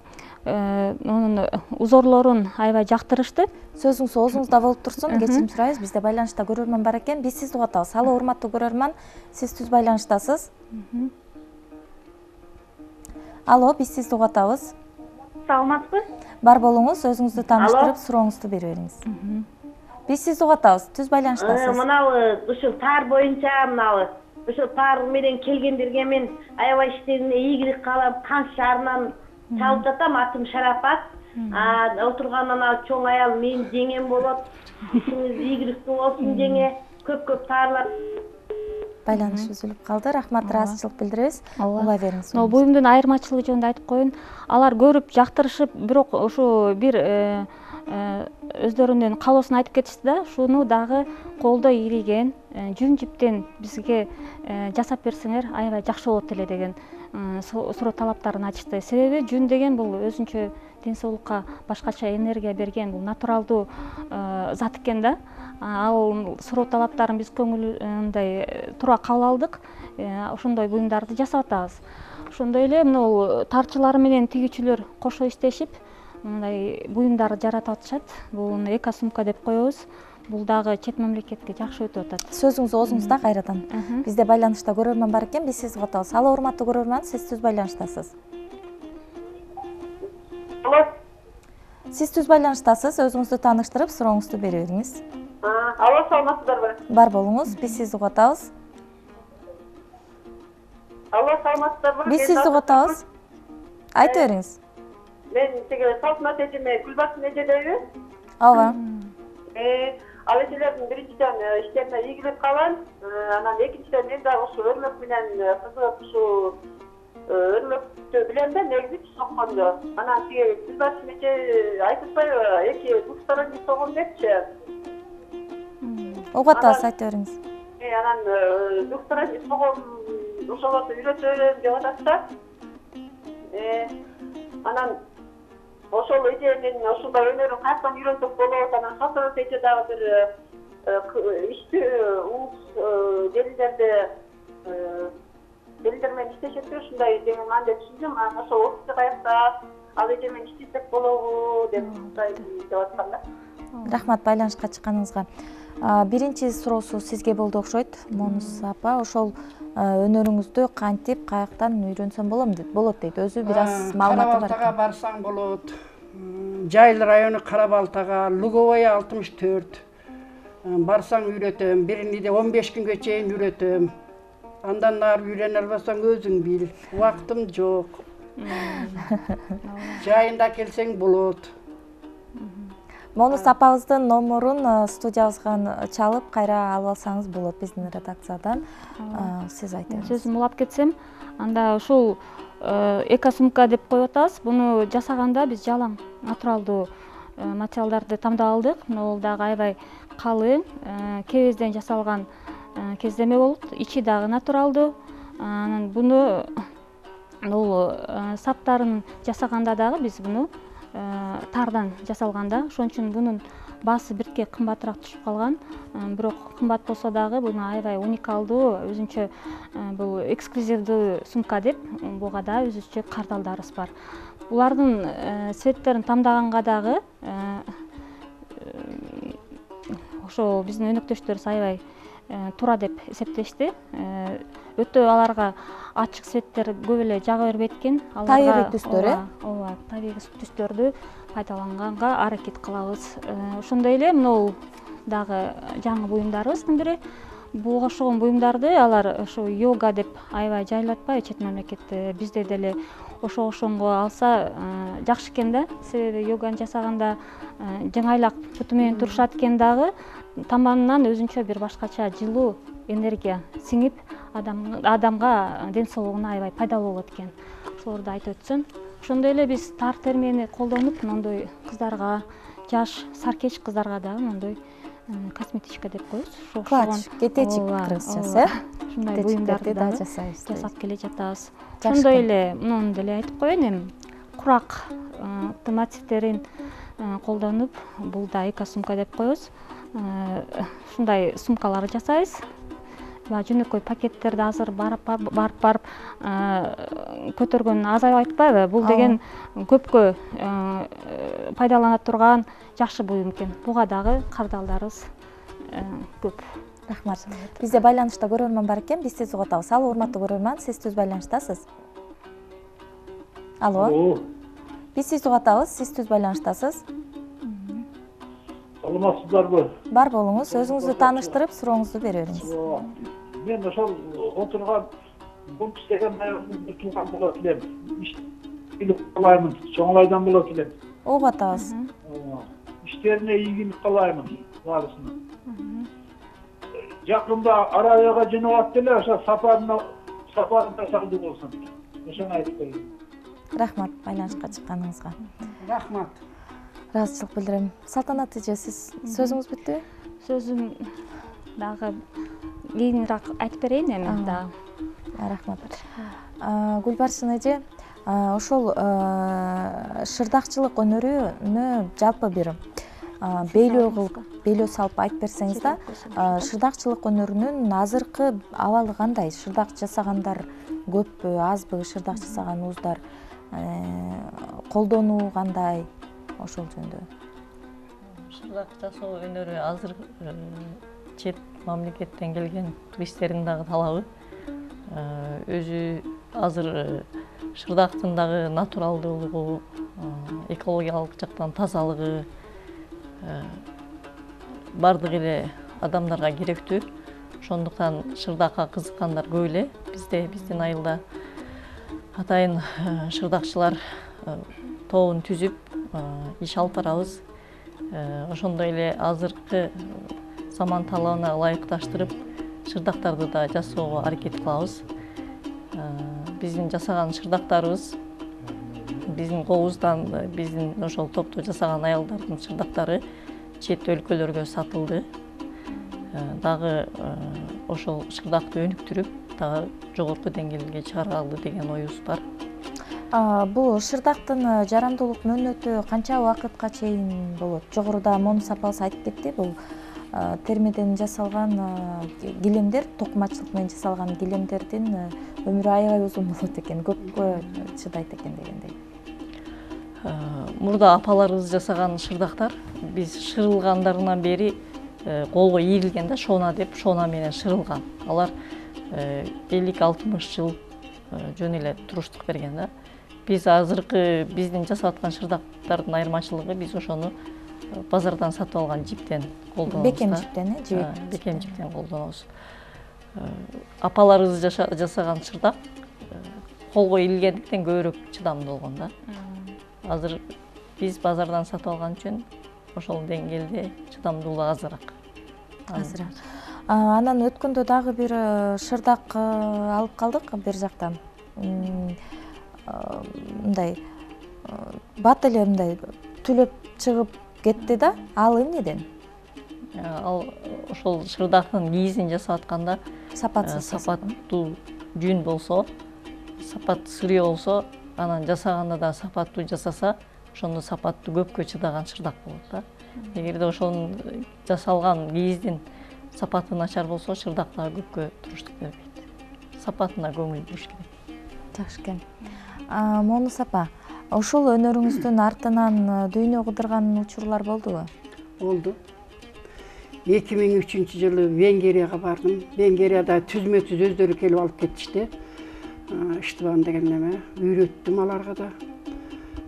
Speaker 3: онун узорлорун аябай жактырышты.
Speaker 1: Сөзүңүз оозуңузда болуп турсун, кечирим сурайбыз. Бизде байланышта көрөрман бар экен. Биз сизди угатабыз. Алло, урматтуу көрөрман, сиз түз байланыштасыз. Алло, биз сизди угатабыз.
Speaker 5: Саламатсызбы?
Speaker 1: Бар болуңуз, өзүңүздү тааныштырып, сурооңузду берип бериңиз. Биз сизди угатабыз, түз байланыштасыз.
Speaker 5: Мынабы ушул таар боюнча, мынабы ушул таар менен келгендерге мен аябай иштегине ийгилик каалап, кан шаарынан чалып жатам. Атым Шарапат. Отургандан чоң аял менин жеңем болот. Ишиңиз ийгиликтүү болсун жеңе. Көп таарлар.
Speaker 1: Байланыш үзүлүп калды. Рахмат, ыраазычылык билдиребиз. Улай бериңиз.
Speaker 3: Буюмдун айырмачылыгы жөнүндө айтып коеюн. Алар көрүп жактырышып, бирок ушу бир өздөрүнүн каалоосун айтып кетишти да, шуну дагы колдо ийриген жүн жиптен бизге жасап берсеңер аябай жакшы болот эле деген суроо талаптарын айтышты. Себеби жүн деген бул өзүнчө ден соолукка башкача энергия берген, бул натуралдуу зат экен да. Ал суроо талаптарын биз көңүлдөй туура кабыл алдык. Ошондой буюмдарды жасап атабыз. Ошондой эле мына тарчылар менен тигүүчүлөр кошо иштешип мындай буюмдар жаратып атышат. Бул эко-сумка деп коебуз. Бул дагы чет мамлекетке жакшы өтүп атат.
Speaker 1: Сөзүңүз оозуңузда кайрадан. Бизде байланышта көрөрман бар экен, биз сизди угатабыз. Алло, урматтуу көрөрман, сиз түз байланыштасыз.
Speaker 5: Алло.
Speaker 1: Сиз түз байланыштасыз, өзүңүздү тааныштырып, сурооңузду бере бериңиз.
Speaker 5: Алло, саламатсыздарбы?
Speaker 1: Бар болуңуз, биз сизди угатабыз.
Speaker 5: Алло, саламатсыздарбы?
Speaker 1: Биз сизди угатабыз. Айтып бериңиз.
Speaker 5: Мен тиги Салтанат эжеме Гүлбакыт эжедейби?
Speaker 1: Ооба.
Speaker 5: Ал эжелердин биринчиден иштерине ийгилик каалайм. Анан экинчиден мен дагы ушу өрмөк менен кызыгып, ушу
Speaker 6: өрмөктү билем да, негизи соккондо. Анан тиги билбачмече айтып атпайбы, эки двусторонний согон депчи.
Speaker 1: Угуп атабыз, айта бериңиз.
Speaker 6: Анан двусторонний согон ошолорду үйрөтөм деп атат да. Анан ошол эженин ушундай өнөрүн каяктан үйрөнсөк болот, анан сатырып эже дагы бир ишти уус делилер менен иштешет да, ушундай деген ан деп түшүндүм. Анан ошол офисте каякта, ал эже менен иштесек болобу деп деп аткан да.
Speaker 1: Рахмат байланышка чыкканыңызга. Биринчи суроосу сизге болду окшойт, Монус апа. Ошол өнөрүңүздү кантип, каяктан үйрөнсөм болот дейт. Өзү бир аз маалыматы бар.
Speaker 2: Кара-Балтага барсаң болот. Жайыл району Кара-Балтага, Луговая 64. Барсаң үйрөтөм. Биринде 15 күнгө чейин үйрөтөм. Андан ары үйрөнө албасаң өзүң бил. Убактым жок. Жайында келсең болот.
Speaker 1: Монус апабыздын номерун студиябызга чалып кайра алып алсаңыз болот биздин редакциядан. Сиз айтыңыз.
Speaker 3: Сөзүм улап кетсем, анда ушул эко-сумка деп коюп атабыз. Буну жасаганда биз жалаң натуралдуу материалдарды тандап алдык. Бул дагы аябай калың, кебезден жасалган кездеме болот. Ичи дагы натуралдуу. Анан буну бул саптарын жасаганда дагы биз буну тардан жасалганда, ошон үчүн бунун баасы бирке кымбатыраак түшүп калган. Бирок кымбат болсо дагы буну аябай уникалдуу, өзүнчө бул эксклюзивдүү сумка деп буга да өзүнчө кардалдарыбыз бар. Булардын цветтерин тандаганда дагы ошо биздин өнөктөштөрүбүз аябай туура деп эсептешти. Өтө аларга ачык цветтер көп эле жага бербейт экен.
Speaker 1: Табигый түстөр,
Speaker 3: ооба, табигый түстөрдү пайдаланганга аракет кылабыз. Ошондой эле могу дагы жаңы буюмдарыбыздын бири. Буга окшогон буюмдарды алар ошо йога деп аябай жайылып атпайбы чет мамлекетте. Бизде деле ошого алса жакшы экен да. Себеби йоганы жасаганда жыңайлак буту менен турушат экен дагы, таманынан өзүнчө бир башкача жылуу энергия сиңип, адамга ден соолугуна аябай пайдалуу болот экен. Ошолорду айтып өтсөм, ошондой эле биз тар термени колдонуп, мондой кыздарга, жаш саркеч кыздарга дагы мондой косметичка деп коебуз.
Speaker 1: Клатч, кетечик кыргызчасы,
Speaker 3: ушундай буюмдарды
Speaker 1: да жасайбыз.
Speaker 3: Жасап келе жатабыз. Ошондой эле муну деле айтып коеюн, эми курак мотивтерин колдонуп, бул да эко-сумка деп коебуз. Ушундай сумкалар жасайбыз. Жөнөкөй пакеттерди азыр барып көтөргөн азайып атпайбы? Бул деген көпкө пайдалана турган жакшы буюм экен. Буга дагы кардалдарыбыз көп.
Speaker 1: Рахмат. Бизде байланышта көрөрман бар экен, биз сизди угуп атабыз. Алло, урматтуу көрөрман, сиз түз байланыштасыз. Алло. Биз сизди угуп атабыз, сиз түз байланыштасыз.
Speaker 7: Саламатсыздарбы?
Speaker 1: Бар болуңуз, өзүңүздү тааныштырып, сурооңузду бере бериңиз.
Speaker 7: Мен ошол отурган бункс деген айылдын тууган болот элем. Ийгилик каалаймын, чоңлайдан болот элем.
Speaker 1: Угуп атабыз.
Speaker 7: Иштерине ийгилик каалаймын баарысына. Жакында Арабияга жөнөп атты эле, ошо сапарында салды болсун. Ошону айтып коеюн.
Speaker 1: Рахмат байланышка чыкканыңызга.
Speaker 2: Рахмат.
Speaker 1: Ыраазычылык билдирем. Салтанат эже, сиз сөзүңүз бүттүбү?
Speaker 3: Сөзүм дагы кийинирээк айтып берейин эми дагы.
Speaker 1: Рахмат. Гүлбаршын эже, ошол шырдакчылык өнөрүнө жалпы бир beylөө салып айтып берсеңиз да, шырдакчылык өнөрүнүн азыркы абалы кандай? Шырдак жасагандар көппү, азбы? Шырдак жасаган ууздар колдонуу кандай? Ошол жөнүндө.
Speaker 4: Шырдак жасоо өнөрү азыр чет мамлекеттен келген туристтердин дагы талабы. Өзү азыр шырдактын дагы натуралдуулугу, экологиялык жактан тазалыгы бардык эле адамдарга керектүү. Ошондуктан шырдакка кызыккандар көп эле. Биздин айылда атайын шырдакчылар тобун түзүп иш алып барабыз. Ошондой эле азыркы заман талабына ылайыкташтырып шырдактарды да жасоого аракет кылабыз. биздин жасаган шырдактарыбыз, биздин кобуздан биздин ошол топту жасаган аялдардын шырдактары чет өлкөлөргө сатылды. Дагы ошол шырдакты өнүктүрүп, дагы жогорку деңгээлге чыгаралы деген оюбуз бар.
Speaker 1: Бул шырдактын жарамдуулук мөөнөтү канча убакытка чейин болот? Жогоруда Мону сапасы айтып кетти, бул термеден жасалган килемдер, токумачылык менен жасалган килемдердин өмүрү аябай узун болот экен, көпкө чыдайт экен дегендей.
Speaker 4: Мурда апаларыбыз жасаган шырдактар биз шырылгандарынан бери колго ийилген да, шона деп, шона менен шырылган. Алар 50-60 жыл жөн эле туруштук берген да. Биз азыркы биздин жасап аткан шырдактардын айырмачылыгы, биз ошону базардан сатып алган жиптен колдонобуз.
Speaker 1: Бекем жиптен,
Speaker 4: бекем жиптен колдонобуз. Апаларыбыз жасаган шырдак колго ийилгендиктен көбүрөөк чыдамдуу болгон да. Азыр биз базардан сатып алган үчүн ошол деңгээлде чыдамдуулугу азыраак.
Speaker 1: Анан өткөндө дагы бир шырдак алып калдык бир жактан. Мындай бат эле мындай түлөп чыгып кетти да, ал эмнеден?
Speaker 4: Ал ошол шырдактын кийизин жасап атканда сапаттуу жүн болсо, сапат сырый болсо, анан жасаганда да сапаттуу жасаса, ошондо сапаттуу көпкө чыдаган шырдак болот да. Эгерде ошонун жасалган кийиздин сапаты начар болсо, шырдак дагы көпкө туруштук бербейт. Сапатына көңүл буруш керек.
Speaker 1: Жакшы экен. Мону сапа, ошол өнөрүңүздүн артынан дүйнө кыдырган учурлар болдубу?
Speaker 2: Болду. 2003 жылы Венгерияга бардым. Венгерияда түзмө-түз өздөрү келип алып кетишти. Иштебан деген неме, үйрөттүм аларга да.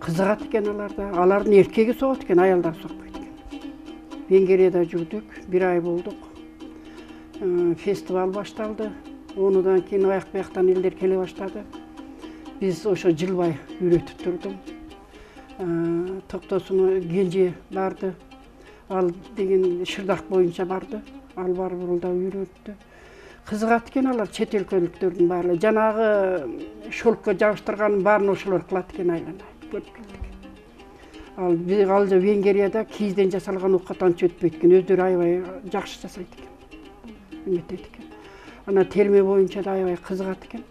Speaker 2: Кызыгат экен аларда. Алардын эркеги согот экен, аялдар сокпойт экен. Венгерияда жүрдүк, 1 ай болдук. Фестиваль башталды. Онудан кийин аяк-бияктан элдер келе баштады. Биз ошо жылбай үйрөтүп турдум. Токтосуна кенже барды. Ал деген шырдак боюнча барды. Ал барып урулда үйрөттү. Кызыгат экен алар, чет өлкөлүктөрдүн баары. Жанагы шолкко жабыштырганын баарын ошолор кылат экен, айланайт. Ал Венгерияда кийизден жасалган оокат анча өтпөйт экен, өздөрү аябай жакшы жасайт экен. Үмүттөйт экен. Ана терме боюнча да аябай кызыгат экен.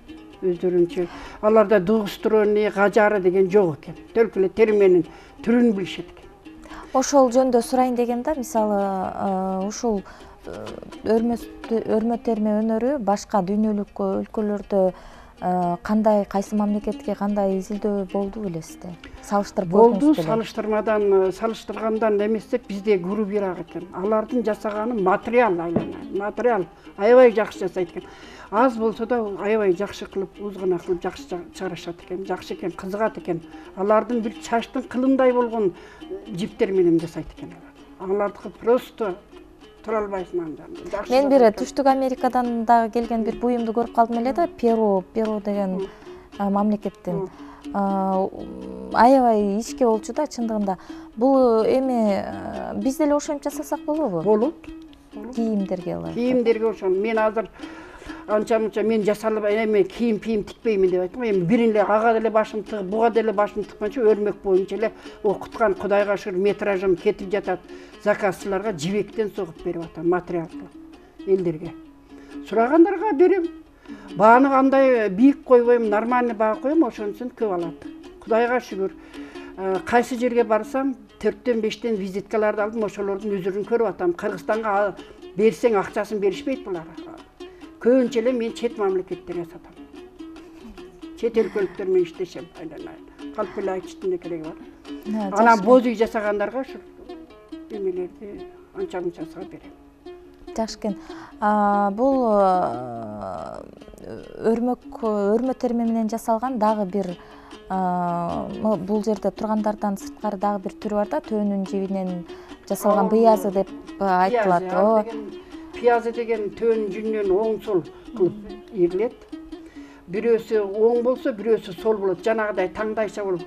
Speaker 2: Өздөрүнчө. Аларда дугустроний, гажары деген жок экен. Төлкө эле терменин түрүн билишет экен.
Speaker 1: Ошол жөндө сурайын дегенде, мисалы, ушул өрмө терме өнөрү башка дүйнөлүк өлкөлөрдө кандай, кайсы мамлекетке кандай изилдөө болду белесизби? Салыштырып
Speaker 2: болду, салыштыргандан эместек бизде грубирак экен. Алардын жасаганы материал айланат. Материал аябай жакшы жасайт экен. Аз болсо да аябай жакшы кылып, узгана кылып жакшы чыгарышат экен. Жакшы экен, кызыгат экен. Алардын бир чачтын кылымдай болгон жиптер менен жасайт экен алар. Алардыкы просто тура албайсың анда.
Speaker 1: Мен бир Түштүк Америкадан дагы келген бир буюмду көрүп калдым эле да, Перу деген мамлекеттен. Аябай ичке болчу да чындыгында. Бул эми биз деле ошентип жасасак болобу?
Speaker 2: Болот.
Speaker 1: Кийимдерге алар.
Speaker 2: Кийимдерге ошон. Мен азыр анча-мынча мен жасалып эме кийим тикпеймин деп айттым. Эми бирин эле ага деле башым тыгып, буга деле башым тыкканча өрмөк боюнча эле окуткан, Кудайга шүгүр, метражым кетип жатат. Заказчыларга жибектен согуп берип атам, материал элдерге. Сурагандарга берем. Бааны кандай бийик койбойм, нормальный баа коем, ошонусун көп алат. Кудайга шүгүр. Кайсы жерге барсам, 4-5 визиткаларды алдым, ошолордун үзүрүн көрүп атам. Кыргызстанга берсең акчасын беришпейт булар. Көбүнчө эле мен чет мамлекеттерге сатам. Чет өлкөлүктөр менен иштешем, айланайын. Калп эле айтыштын кереги бар. Анан боз үй жасагандарга ушу эмелерди анча-мынчасына берем.
Speaker 1: Жакшы экен. Бул өрмө терме менен жасалган дагы бир бул жерде тургандардан сырткары дагы бир түрү бар да, төөнүн жибинен жасалган быязы деп айтылат.
Speaker 2: Пиязы деген төөнүн жүнүнөн оң сол кылып ийилет. Бирөөсү оң болсо, бирөөсү сол болот. Жанагыдай таңдайча болуп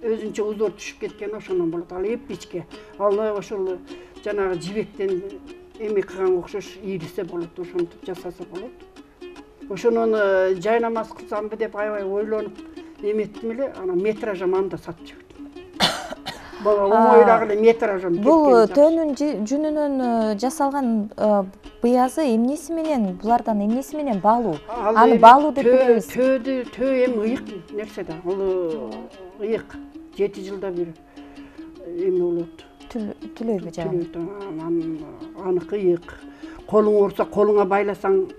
Speaker 2: өзүнчө узор түшүп кеткен ошондон болот. Ал эпичке. Ал ошол жанагы жибектен эме кылганга окшош ийилсе болот, ошентип жасаса болот. ошонун жай намаз кылсамбы деп аябай ойлонуп эметтим эле, анан метражым анда сатып жибердим. Оңойрак эле метражым.
Speaker 1: Бул төөнүн жүнүнөн жасалган быязы эмнеси менен, булардан эмнеси менен баалуу? Аны баалуу деп билебиз.
Speaker 2: Төө эми ыйык нерсе да. Ал ыйык. 7 жылда бир эме болот.
Speaker 1: Түлөйбү жагы?
Speaker 2: Аныкы ыйык. Колуң ооруса, колуңа байласаң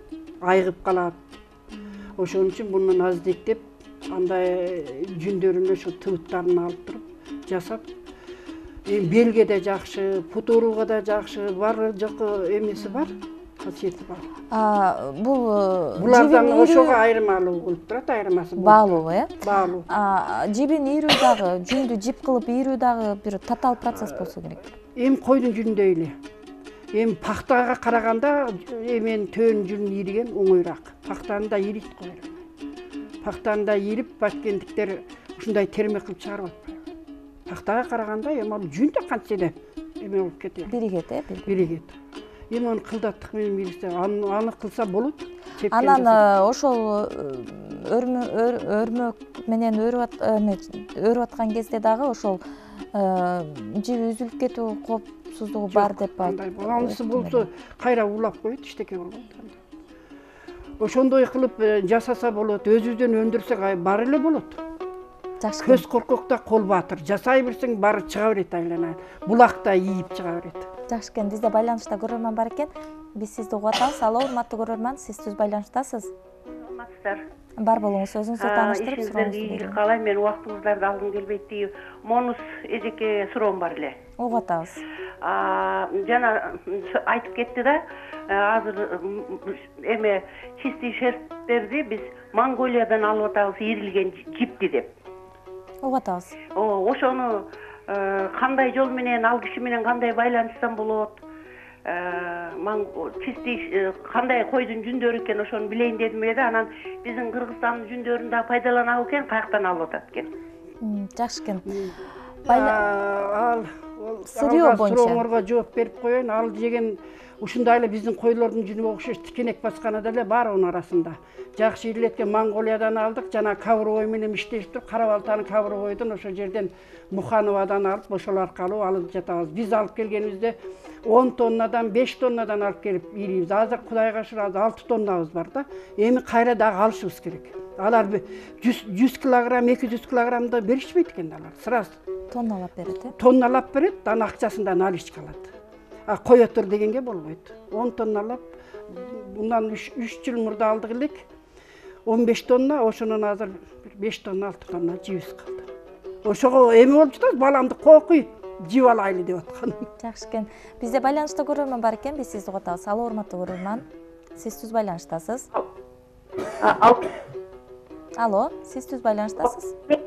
Speaker 2: айыгып калат. Ошон үчүн мунун аздеттеп, андай жүндөрүн ошо тыбыттарын алып туруп жасап, белге да жакшы, пут ооруга да жакшы, бар жок эмеси бар, касиети бар. Булардан ошого айырмалуу болуп турат, айырмасы
Speaker 1: баалуу,
Speaker 2: баалуу.
Speaker 1: Жибин ийрүү дагы, жүндү жип кылып ийрүү дагы бир татаал процесс болсо керек.
Speaker 2: Эми койдун жүнүндөй эле. Эми пактага караганда эмен төөнүн жүнүн ийриген оңойраак. Пактаны да ийрийт го. Пактаны да ийрип, баткендиктер ушундай терме кылып чыгарып атпайбы. Пактага караганда эми ал жүн да кантсе да эме болуп кетет.
Speaker 1: Биригет,
Speaker 2: биригет. Эми аны кылдаттык менен билсе, аны кылса болот.
Speaker 1: Анан ошол өрмөк менен өрүп аткан кезде дагы ошол жиби үзүлүп кетүү коопсуздугу бар деп
Speaker 2: анысы болсо кайра улап коет, иштеке болбойт. Ошондой кылып жасаса болот, өзүбүздөн өндүрсөк бар эле болот.
Speaker 1: Жакшы.
Speaker 2: Көз коркокто кол баатыр. Жасай берсең баары чыга берет айлана. Булакта ийип чыга берет.
Speaker 1: Жакшы экен, бизде байланышта көрөрман бар экен. Биз сизди угуп атабыз. Алло, урматтуу көрөрман, сиз түз байланыштасыз.
Speaker 6: Урматтар.
Speaker 1: Бар болуңуз, өзүңүздү тааныштырып
Speaker 6: сурооңузду ийгилик каалайм. Мен убактыңыздарды алгым келбейт дейм. Монус эжеке суроом бар эле.
Speaker 1: Угуп атабыз.
Speaker 6: Жана айтып кетти да, азыр эме чистый шерсттерди биз Монголиядан алып атабыз, ийрилген жипти деп.
Speaker 1: Угуп атабыз.
Speaker 6: Ошону кандай жол менен, ал киши менен кандай байланышсам болот? Чистый кандай койдун жүндөрү экен, ошону билейин дедим эле да. Анан биздин Кыргызстандын жүндөрүн да пайдаланабы экен, каяктан алып атат экен?
Speaker 1: Жакшы экен.
Speaker 2: Ал
Speaker 1: сырьё боюнча
Speaker 2: сурооңорго жооп берип коеюн. Ал деген ушундай эле биздин койлордун жүнүгө окшош тикенек басканы деле бар онун арасында. Жакшы ийрилеткен Монголиядан алдык, жана Кабровой менен иштешип туруп, Кара Балтанын Кабровойдон ошол жерден Мухановадан алып, ошол аркылуу алып жатабыз. Биз алып келгенибизде 10 тоннадан 5 тоннадан алып келип ийрийбиз. Азыр Кудайга шүгүр 6 тоннабыз бар да. Эми кайра дагы алышыбыз керек. Алар 100 килограмм, 200 килограммды беришпейт экен алар. Сразу
Speaker 1: тонналап берет,
Speaker 2: тонналап берет, анан акчасынан алыш калат. Кое тур дегенге болбойт. 10 тонналап, bundan 3 жыл мурда алдык элек. 15 тонна, ошонун азыр 5 тонна, 6 тонна жибиз калды. Ошого эме болуп жатат, баламды кокуйт, жип алайлы деп аткан.
Speaker 1: Жакшы экен. Бизде байланышта көрөрман бар экен, биз сизди угуп атабыз. Алло, урматтуу көрөрман. Сиз түз байланыштасыз. Алло, сиз түз байланыштасыз.
Speaker 6: Мен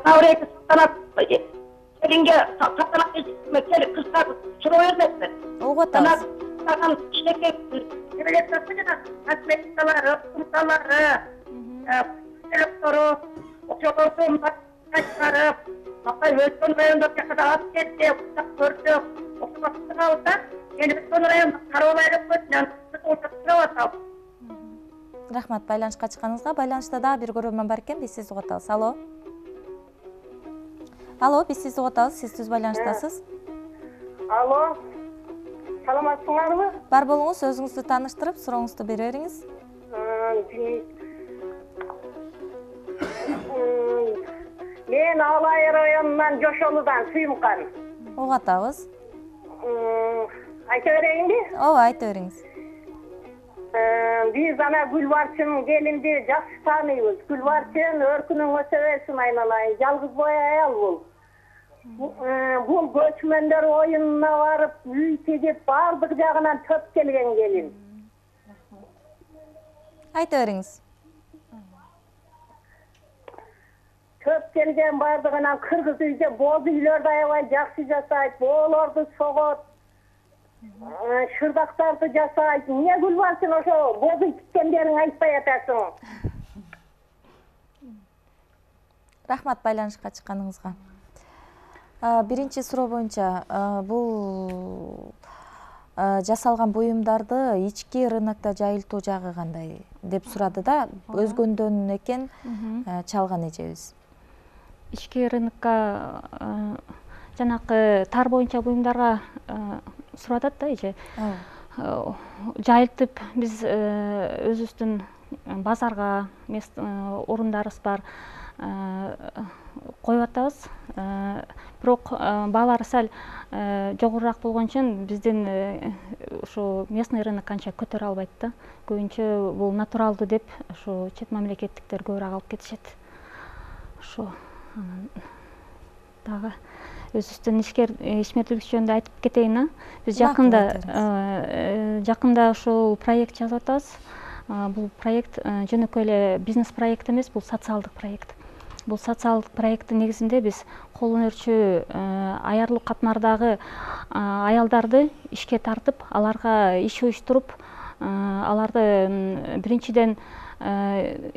Speaker 6: Таврейки салтанат келинге салтанат кызга суроо бермекмин.
Speaker 1: Угуп атабыз.
Speaker 6: Анан кичинекей кирелектер жана косметикалары, кумталары, электору, ошолордун чыгарып, Акай Өскөн райондо жакада алып кетти, көрдүк. Ошого да, эми Өскөн райондо карабай өткөн, отурап.
Speaker 1: Рахмат байланышка чыкканыңызга. Байланышта дагы бир көрөрман бар экен, биз сизди угуп атабыз. Алло. Алло, биз сизди угуп атабыз, сиз түз байланыштасыз.
Speaker 6: Алло. Саламатсыңарбы?
Speaker 1: Бар болуңуз, өзүңүздү тааныштырып, сурооңузду бере бериңиз.
Speaker 6: Мен Алай районунан Жошолудан Сүйүмкан.
Speaker 1: Угуп атабыз.
Speaker 6: Айта берейинби?
Speaker 1: Ооба, айта бериңиз.
Speaker 6: Биз ана Гүлбарчын келинди жакшы тааныйбыз. Гүлбарчын өркүнүң өсө берсин айналайын. Жалгыз бой аял бул. Бул көчмөндөр оюнуна барып, үй тегип, бардык жагынан төп келген келин.
Speaker 1: Айта бериңиз.
Speaker 6: Төп келген бардыгынан кыргыз үйдө боз үйлөрдү аябай жакшы жасайт, боолорду согот, шырдактарды жасайт. Эмне Гүлбарчын ошо боз үй тиккендерин айтпай атасың?
Speaker 1: Рахмат байланышка чыкканыңызга. Биринчи суроо боюнча, бул жасалган буюмдарды ички рынокто жайылтуу жагы кандай? деп сурады да, өзгөндөн экен чалган эжебиз.
Speaker 3: Ички рынокко жанакы тар боюнча буюмдарга суратат да эже. Жайылтып биз өзүбүздүн базарга орундарыбыз бар коюп атабыз. Бирок баалары сал жогорураак болгон үчүн биздин ушу местный рынок канча көтөрө албайт да. Көбүнчө бул натуралдуу деп ушу чет мамлекеттиктер көбүрөөк алып кетишет. Ошо дагы өзүбүздүн ишмердүүлүк жөнүндө айтып кетейин. Биз жакында ушул проект жазып атабыз. Бул проект жөнөкөй эле бизнес проект эмес, бул социалдык проект. Бул социалдык проекттин негизинде биз кол өнөрчү аярлуу катмардагы аялдарды ишке тартып, аларга иш уюштуруп, аларды биринчиден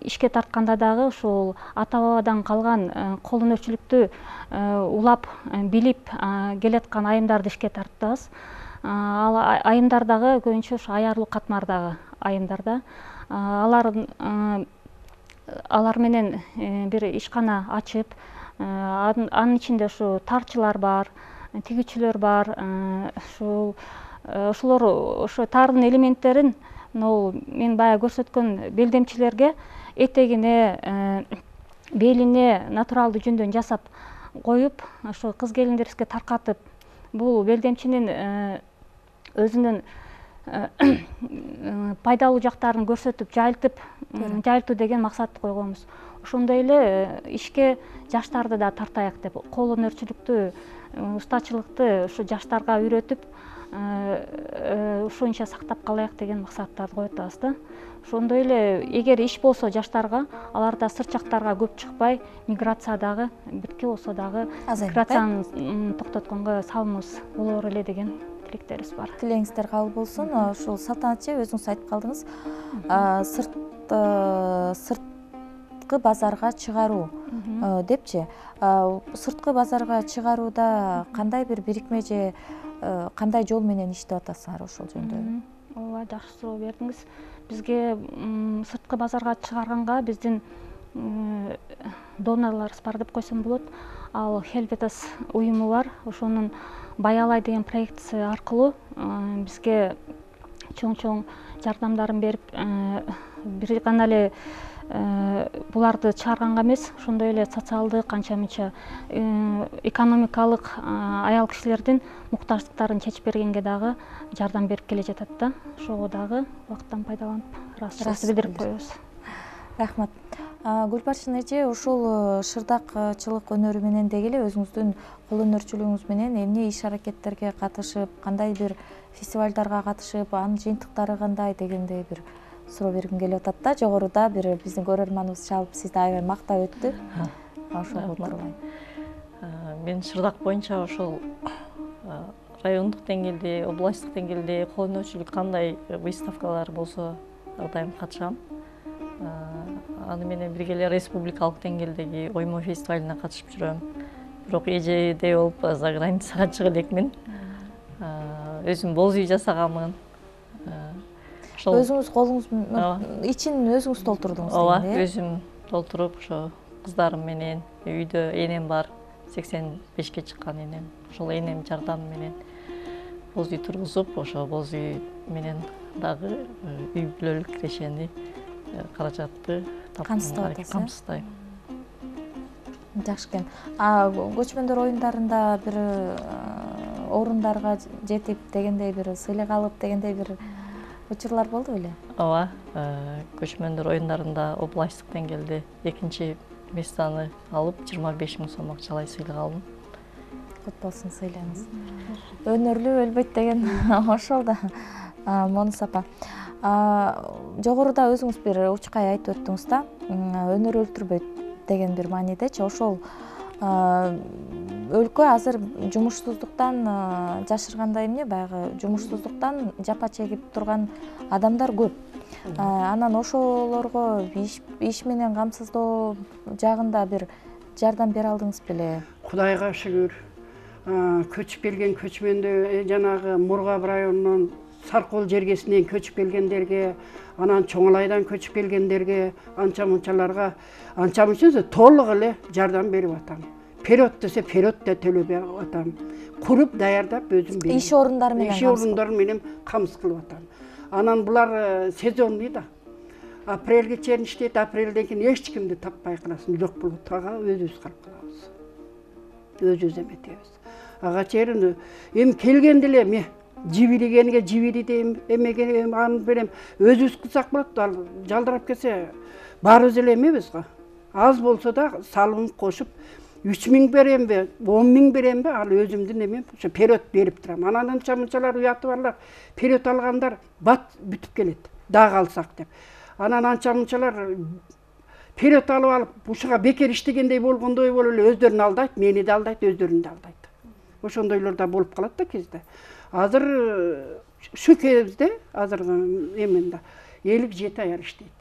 Speaker 3: ишке тартканда дагы ушул ата бабадан калган кол өнөрчүлүктү улап билип келаткан айымдарды ишке тартабыз. Ал айымдар дагы көбүнчө ушу аярлуу катмардагы айымдар да. Алар менен бир ишкана ачып, анын ичинде ушу тарчылар бар, тигүүчүлөр бар. Ошолор ошо таардын элементтерин мен баягы көрсөткөн белдемчилерге этегине, белине натуралдуу жүндөн жасап коюп, ошо кыз келиндерибизге таркатып, бул белдемчинин өзүнүн пайдалуу жактарын көрсөтүп, жайылтуу деген максатты койгонбуз. Ошондой эле ишке жаштарды да тартайык деп, кол өнөрчүлүктү, устачылыкты ушу жаштарга үйрөтүп, ушунча сактап калайык деген максаттарды коюп атабыз да. Ошондой эле эгер иш болсо жаштарга, алар да сырт жактарга көп чыкпай, миграциядагы бирке болсо дагы миграцияны токтотконго салымыбыз болор эле деген тилектерибиз бар.
Speaker 1: Тилегиңиздер кабыл болсун. Ушул Салтанат эже, өзүңүз айтып калдыңыз, сырткы базарга чыгаруу депчи. Сырткы базарга чыгарууда кандай бир бирикме же кандай жол менен иштеп атасыңар ошол жөнүндө?
Speaker 3: Ооба, жакшы суроо бердиңиз. Бизге сырткы базарга чыгарганга биздин донорлорубуз бар деп койсом болот. Ал Helvetas уюму бар. Ошонун Баялай деген проектиси аркылуу бизге чоң жардамдарын берип, бир гана эле буларды чыгарганга эмес, ошондой эле социалдык канча-мынча экономикалык аял кишилердин муктаждыктарын чечип бергенге дагы жардам берип келе жатат да. Ошого дагы убакыттан пайдаланып ыраазычылыкты билдирип коебуз.
Speaker 1: Рахмат. Гүлбаршын эже, ушул шырдакчылык өнөрү менен деги эле өзүңүздүн кол өнөрчүлүгүңүз менен эмне иш аракеттерге катышып, кандай бир фестивалдарга катышып, анын жыйынтыктары кандай дегендей бир суроо бергим келип атат да. Жогоруда бир биздин көрөрманыбыз чалып сизди аябай мактап өттү. Ошого курбан.
Speaker 4: Мен шырдак боюнча ошол райондук деңгээлде, областтык деңгээлде кол өнөрчүлүк кандай выставкалар болсо дайым катышам. Аны менен бирге эле республикалык деңгээлдеги оймо фестивалына катышып жүрөм. Бирок эжедей болуп за границага чыга элекмин. Өзүм боз үй жасаганмын.
Speaker 1: Өзүңүз колуңуз ичин өзүңүз толтурдуңуз дейм.
Speaker 4: Ооба, өзүм толтуруп, ошо кыздарым менен, үйдө энем бар, 85-ке чыккан энем. Ошол энем жардамы менен боз үй тургузуп, ошо боз үй менен дагы үй бүлөлүк кирешени, каражатты камсыздайм.
Speaker 1: Жакшы экен. Көчмөндөр оюндарында бир орундарга жетип дегендей бир сыйлык алып дегендей бир учурлар болду беле?
Speaker 4: Ооба, көчмөндөр оюндарында областтык деңгээлде 2-чи местаны алып 25 000 сом акчалай сыйлык алдым.
Speaker 1: Кут болсун, сыйланыңыз. Өнөрлүү өлбөйт деген ошол да. Монус апа. Жогоруда өзүңүз бир учкай айтып өттүңүз да, өнөр өлтүрбөйт деген бир маанидечи. Ошол өлкө азыр жумушсуздуктан жашыргандай эмне, баягы жумушсуздуктан жапа чегип турган адамдар көп. Анан ошолорго иш менен камсыздоо жагында бир жардам бере алдыңыз беле?
Speaker 2: Кудайга шүгүр. Көчүп келген көчмөндө жанагы Мургап районунан Саркол жергесинен көчүп келгендерге, анан Чоңалайдан көчүп келгендерге, анча мынчаларга анча мынча толук эле жардам берип атам. Период десе период да төлөп атам. Куруп даярдап өзүм берем.
Speaker 1: Иш орундары менен
Speaker 2: камсыз кылып атам. Анан булар сезонный да. Апрелге чейин иштейт, апрелден кийин эч кимди таппай каласың, жок болот. Ага өзүбүз калып калабыз. Өзүбүз эметебиз. Ага чейин эми келгенде эле мен жибиригенге жибири дейм, эмеге аны берем. Өзүбүз кылсак болот. Ал жалдырап келсе баарыбыз эле эмебиз го. Аз болсо да салымын кошуп 3000 беремби, 10.000 беремби, ал өзүмдүн эмем, ошо период берип турам. Анан анча мынчалар уяты барлар, период алгандар бат бүтүп келет, дагы алсак деп. Анан анча мынчалар период алып ушуга бекер иштегендей болгондой болуп эле өздөрүн алдайт, мени да алдайт, өздөрүн да алдайт. Ошондойлор да болуп калат да кезде. Азыр ушу кезде азыркы эменде 57 аял иштейт.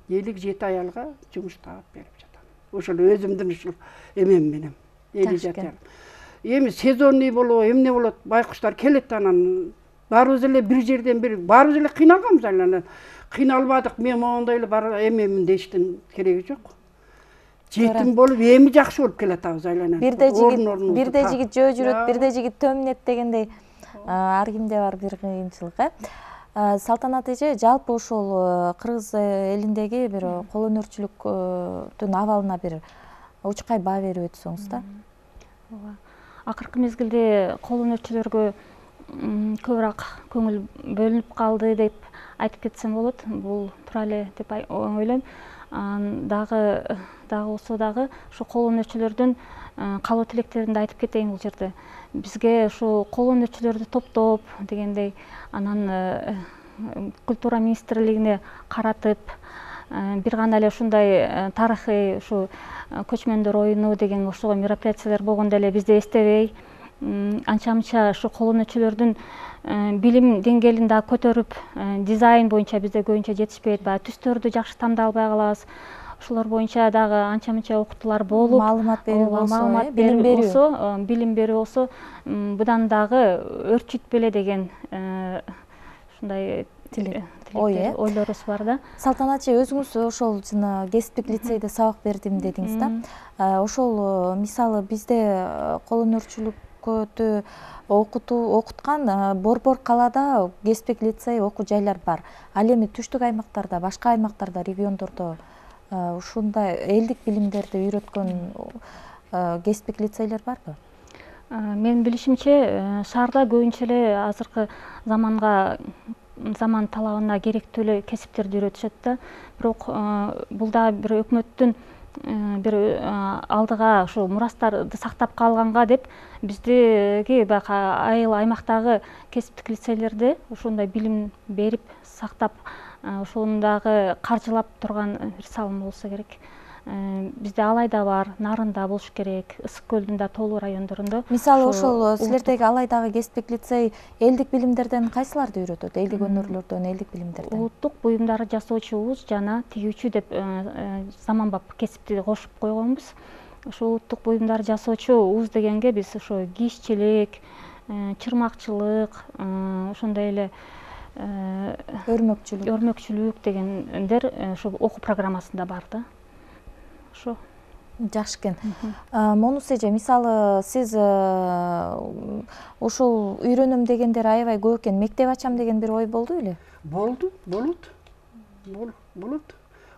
Speaker 2: 57 аялга жумуш таап берип жатам. Ошол өзүмдүн ушул эмем менен 57 аял. Эми сезонный болобу, эмне болот, байкуштар келет, анан баарыбыз эле бир жерден бир, баарыбыз эле кыйналганбыз анан. Кыйналбадык, мен мондой эле бар эмемин дештин кереги жок. Жетим болуп, эми жакшы болуп келатабыз айланан.
Speaker 1: Бирде жигит жөө жүрөт, бирде жигит төмүнөт дегендей ар кимде бар бир кыйынчылык, Салтанат эже, жалпы ошол кыргыз элиндеги бир кол өнөрчүлүктүн абалына бир учкай баа берип өтсөңүз да.
Speaker 3: Акыркы мезгилде кол өнөрчүлөргө көбүрөөк көңүл бөлүнүп калды деп айтып кетсем болот. Бул туура эле деп ойлойм. Дагы болсо дагы ушу кол өнөрчүлөрдүн каалоо тилектерин да айтып кетейин бул жерде. Бизге ушу кол өнөрчүлөрдү топтоп дегендей, анан культура министрлигине каратып, бир гана эле ушундай тарыхый ушу көчмөндөр оюну деген ошого мероприятиялар болгондо эле бизди эстебей, анча-мынча ушу кол өнөрчүлөрдүн билим деңгээлин да көтөрүп, дизайн боюнча бизде көбүнчө жетишпейт, баягы түстөрдү жакшы тандап албай калабыз. Ошолор боюнча дагы анча-мынча окутуулар болуп,
Speaker 1: маалымат берүү
Speaker 3: билим берүү болсо, будан дагы өрчүтпөлө деген ушундай ойлорубуз бар да.
Speaker 1: Салтанат эже, өзүңүз ошол жана кесиптик лицейде сабак бердим дедиңиз да. Ошол мисалы бизде кол өнөрчүлүктү окуткан Борбор калаада кесиптик лицей окуу жайлар бар. Ал эми түштүк аймактарда, башка аймактарда, региондордо ушундай элдик билимдерди үйрөткөн кесиптик лицейлер барбы?
Speaker 3: Менин билишимче, шаарда көбүнчө эле азыркы заман талабына керектүү эле кесиптерди үйрөтүшөт да. Бирок бул да бир өкмөттүн бир алдыга ушу мурастарды сактап калганга деп биздеги баягы айыл аймактагы кесиптик лицейлерде ушундай билим берип сактап, ошону дагы каржылап турган бир салым болсо керек. Бизде Алайда бар, Нарында болуш керек, Ысык көлдүн да толуу райондорунда.
Speaker 1: Мисалы ошол силердеги Алайдагы кесиптик лицей элдик билимдерден кайсыларды үйрөтөт? Элдик өнөрлөрдөн, элдик билимдерден?
Speaker 3: Улуттук буюмдарды жасоочубуз жана тигүүчү деп заманбап кесипти кошуп койгонбуз. Ошол улуттук буюмдарды жасоочу уз дегенге биз ошо кийишчилик, чырмакчылык, ошондой эле өрмөкчүлүк дегендер ошо окуу программасында бар да. Ошо
Speaker 1: жакшы экен. Монус эже, мисалы сиз ошол үйрөнөм дегендер аябай көп экен. Мектеп ачам деген бир ой болду беле?
Speaker 2: Болот.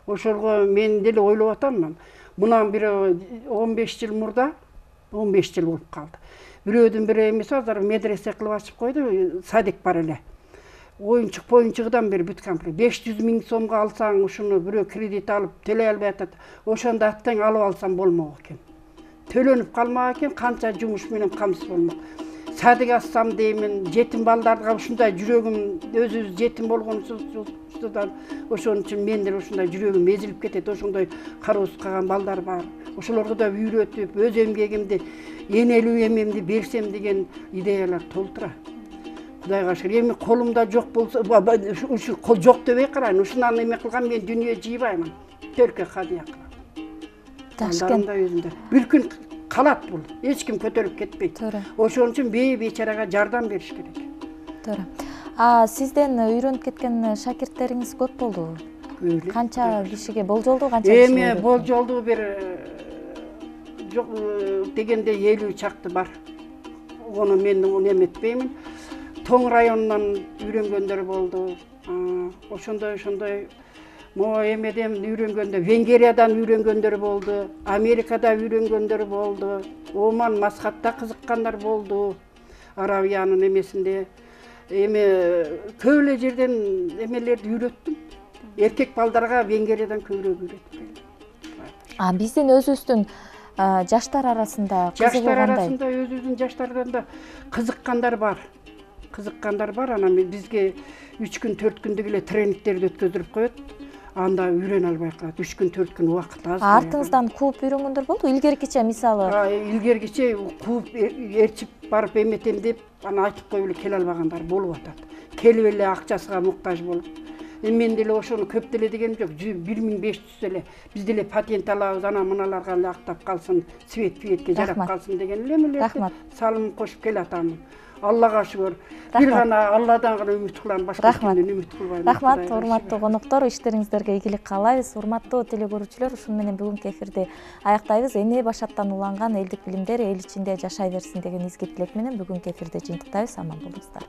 Speaker 2: Ошолго мен деле ойлоп атам. Мунан бир 15 жыл мурда, 15 жыл болуп калды. Бирөөдүн бири эмес азыр медресе кылып ачып койду, садик бар эле. Оюнчук-поюнчугудан бери бүт комплект. 500 000 сомго алсаң, ушуну бирөө кредит алып төлөй албай атат. Ошондо аттан алып алсам болмок экен. Төлөнүп калмак экен, канча жумуш менен камсыз болмок. Садик ачсам деймин, жетим балдарга ушундай жүрөгүм, өзүбүз жетим болгонубуздан ошон үчүн мен деле ушундай жүрөгүм эзилип кетет. Ошондой кароосуз калган балдар бар. Ошолорго да үйрөтүп, өз эмгегимди, энелүү эмемди берсем деген идеялар толтура. Кудайга шүгүр. Эми колумда жок болсо, ушу кол жок дебей карайын. Ушунан эме кылган мен дүнүйө жыйбаймын. Төркө хадия кылам. Жакшы экен. Бир күн калат бул. Эч ким көтөрүп кетпейт. Ошон үчүн бейчарага жардам бериш керек.
Speaker 1: Туура. Сизден үйрөнүп кеткен шакирттериңиз көп болдубу?
Speaker 2: Көп эле.
Speaker 1: Канча кишиге болжолдуу, канча кишиге?
Speaker 2: Эми болжолдуу бир жок дегенде 50 чакты бар. Оны мен эметпеймин. Тоң районунан үйрөнгөндөр болду. Ошондой могу эмеден үйрөнгөндө, Венгериядан үйрөнгөндөр болду, Америкада үйрөнгөндөр болду, Оман, Маскатта кызыккандар болду, Аравиянын эмесинде. Эми көп эле жерден эмелерди үйрөттүм. Эркек балдарга Венгериядан көбүрөөк үйрөттүм.
Speaker 1: Биздин өзүбүздүн жаштар арасында кызыгуу
Speaker 2: Жаштар
Speaker 1: кандай?
Speaker 2: арасында өзүбүздүн жаштардан да кызыккандар бар. Анан бизге 3 күн 4 күндүк эле тренингтерди өткөздүрүп коет. Анда үйрөнө албай калат. 3 күн 4 күн убакыт аз.
Speaker 1: Артыңыздан кууп үйрөнгөндөр болду? Илгеркиче мисалы.
Speaker 2: Илгеркиче кууп ээрчип барып эметем деп аны айтып коюп эле келе албагандар болуп атат. Келип эле акчасына муктаж болуп. Мен деле ошону көп деле дегеним жок. 1500 эле биз деле патент алабыз, ана мыналарга эле актап калсын, свет-пиетке жарап калсын деген эле эмелерди салым кошуп келатамын. Аллага шүгүр. Бир гана Алладан гана үмүт кылам, башка кимден үмүт кылбайм.
Speaker 1: Рахмат, урматтуу коноктор, иштериңиздерге ийгилик каалайбыз. Урматтуу телекөрүүчүлөр, ушуну менен бүгүнкү эфирди аяктайбыз. Эне башаттан уланган элдик билимдер эл ичинде жашай берсин деген изги тилек менен бүгүнкү эфирди жыйынтыктайбыз. Аман болуңуздар.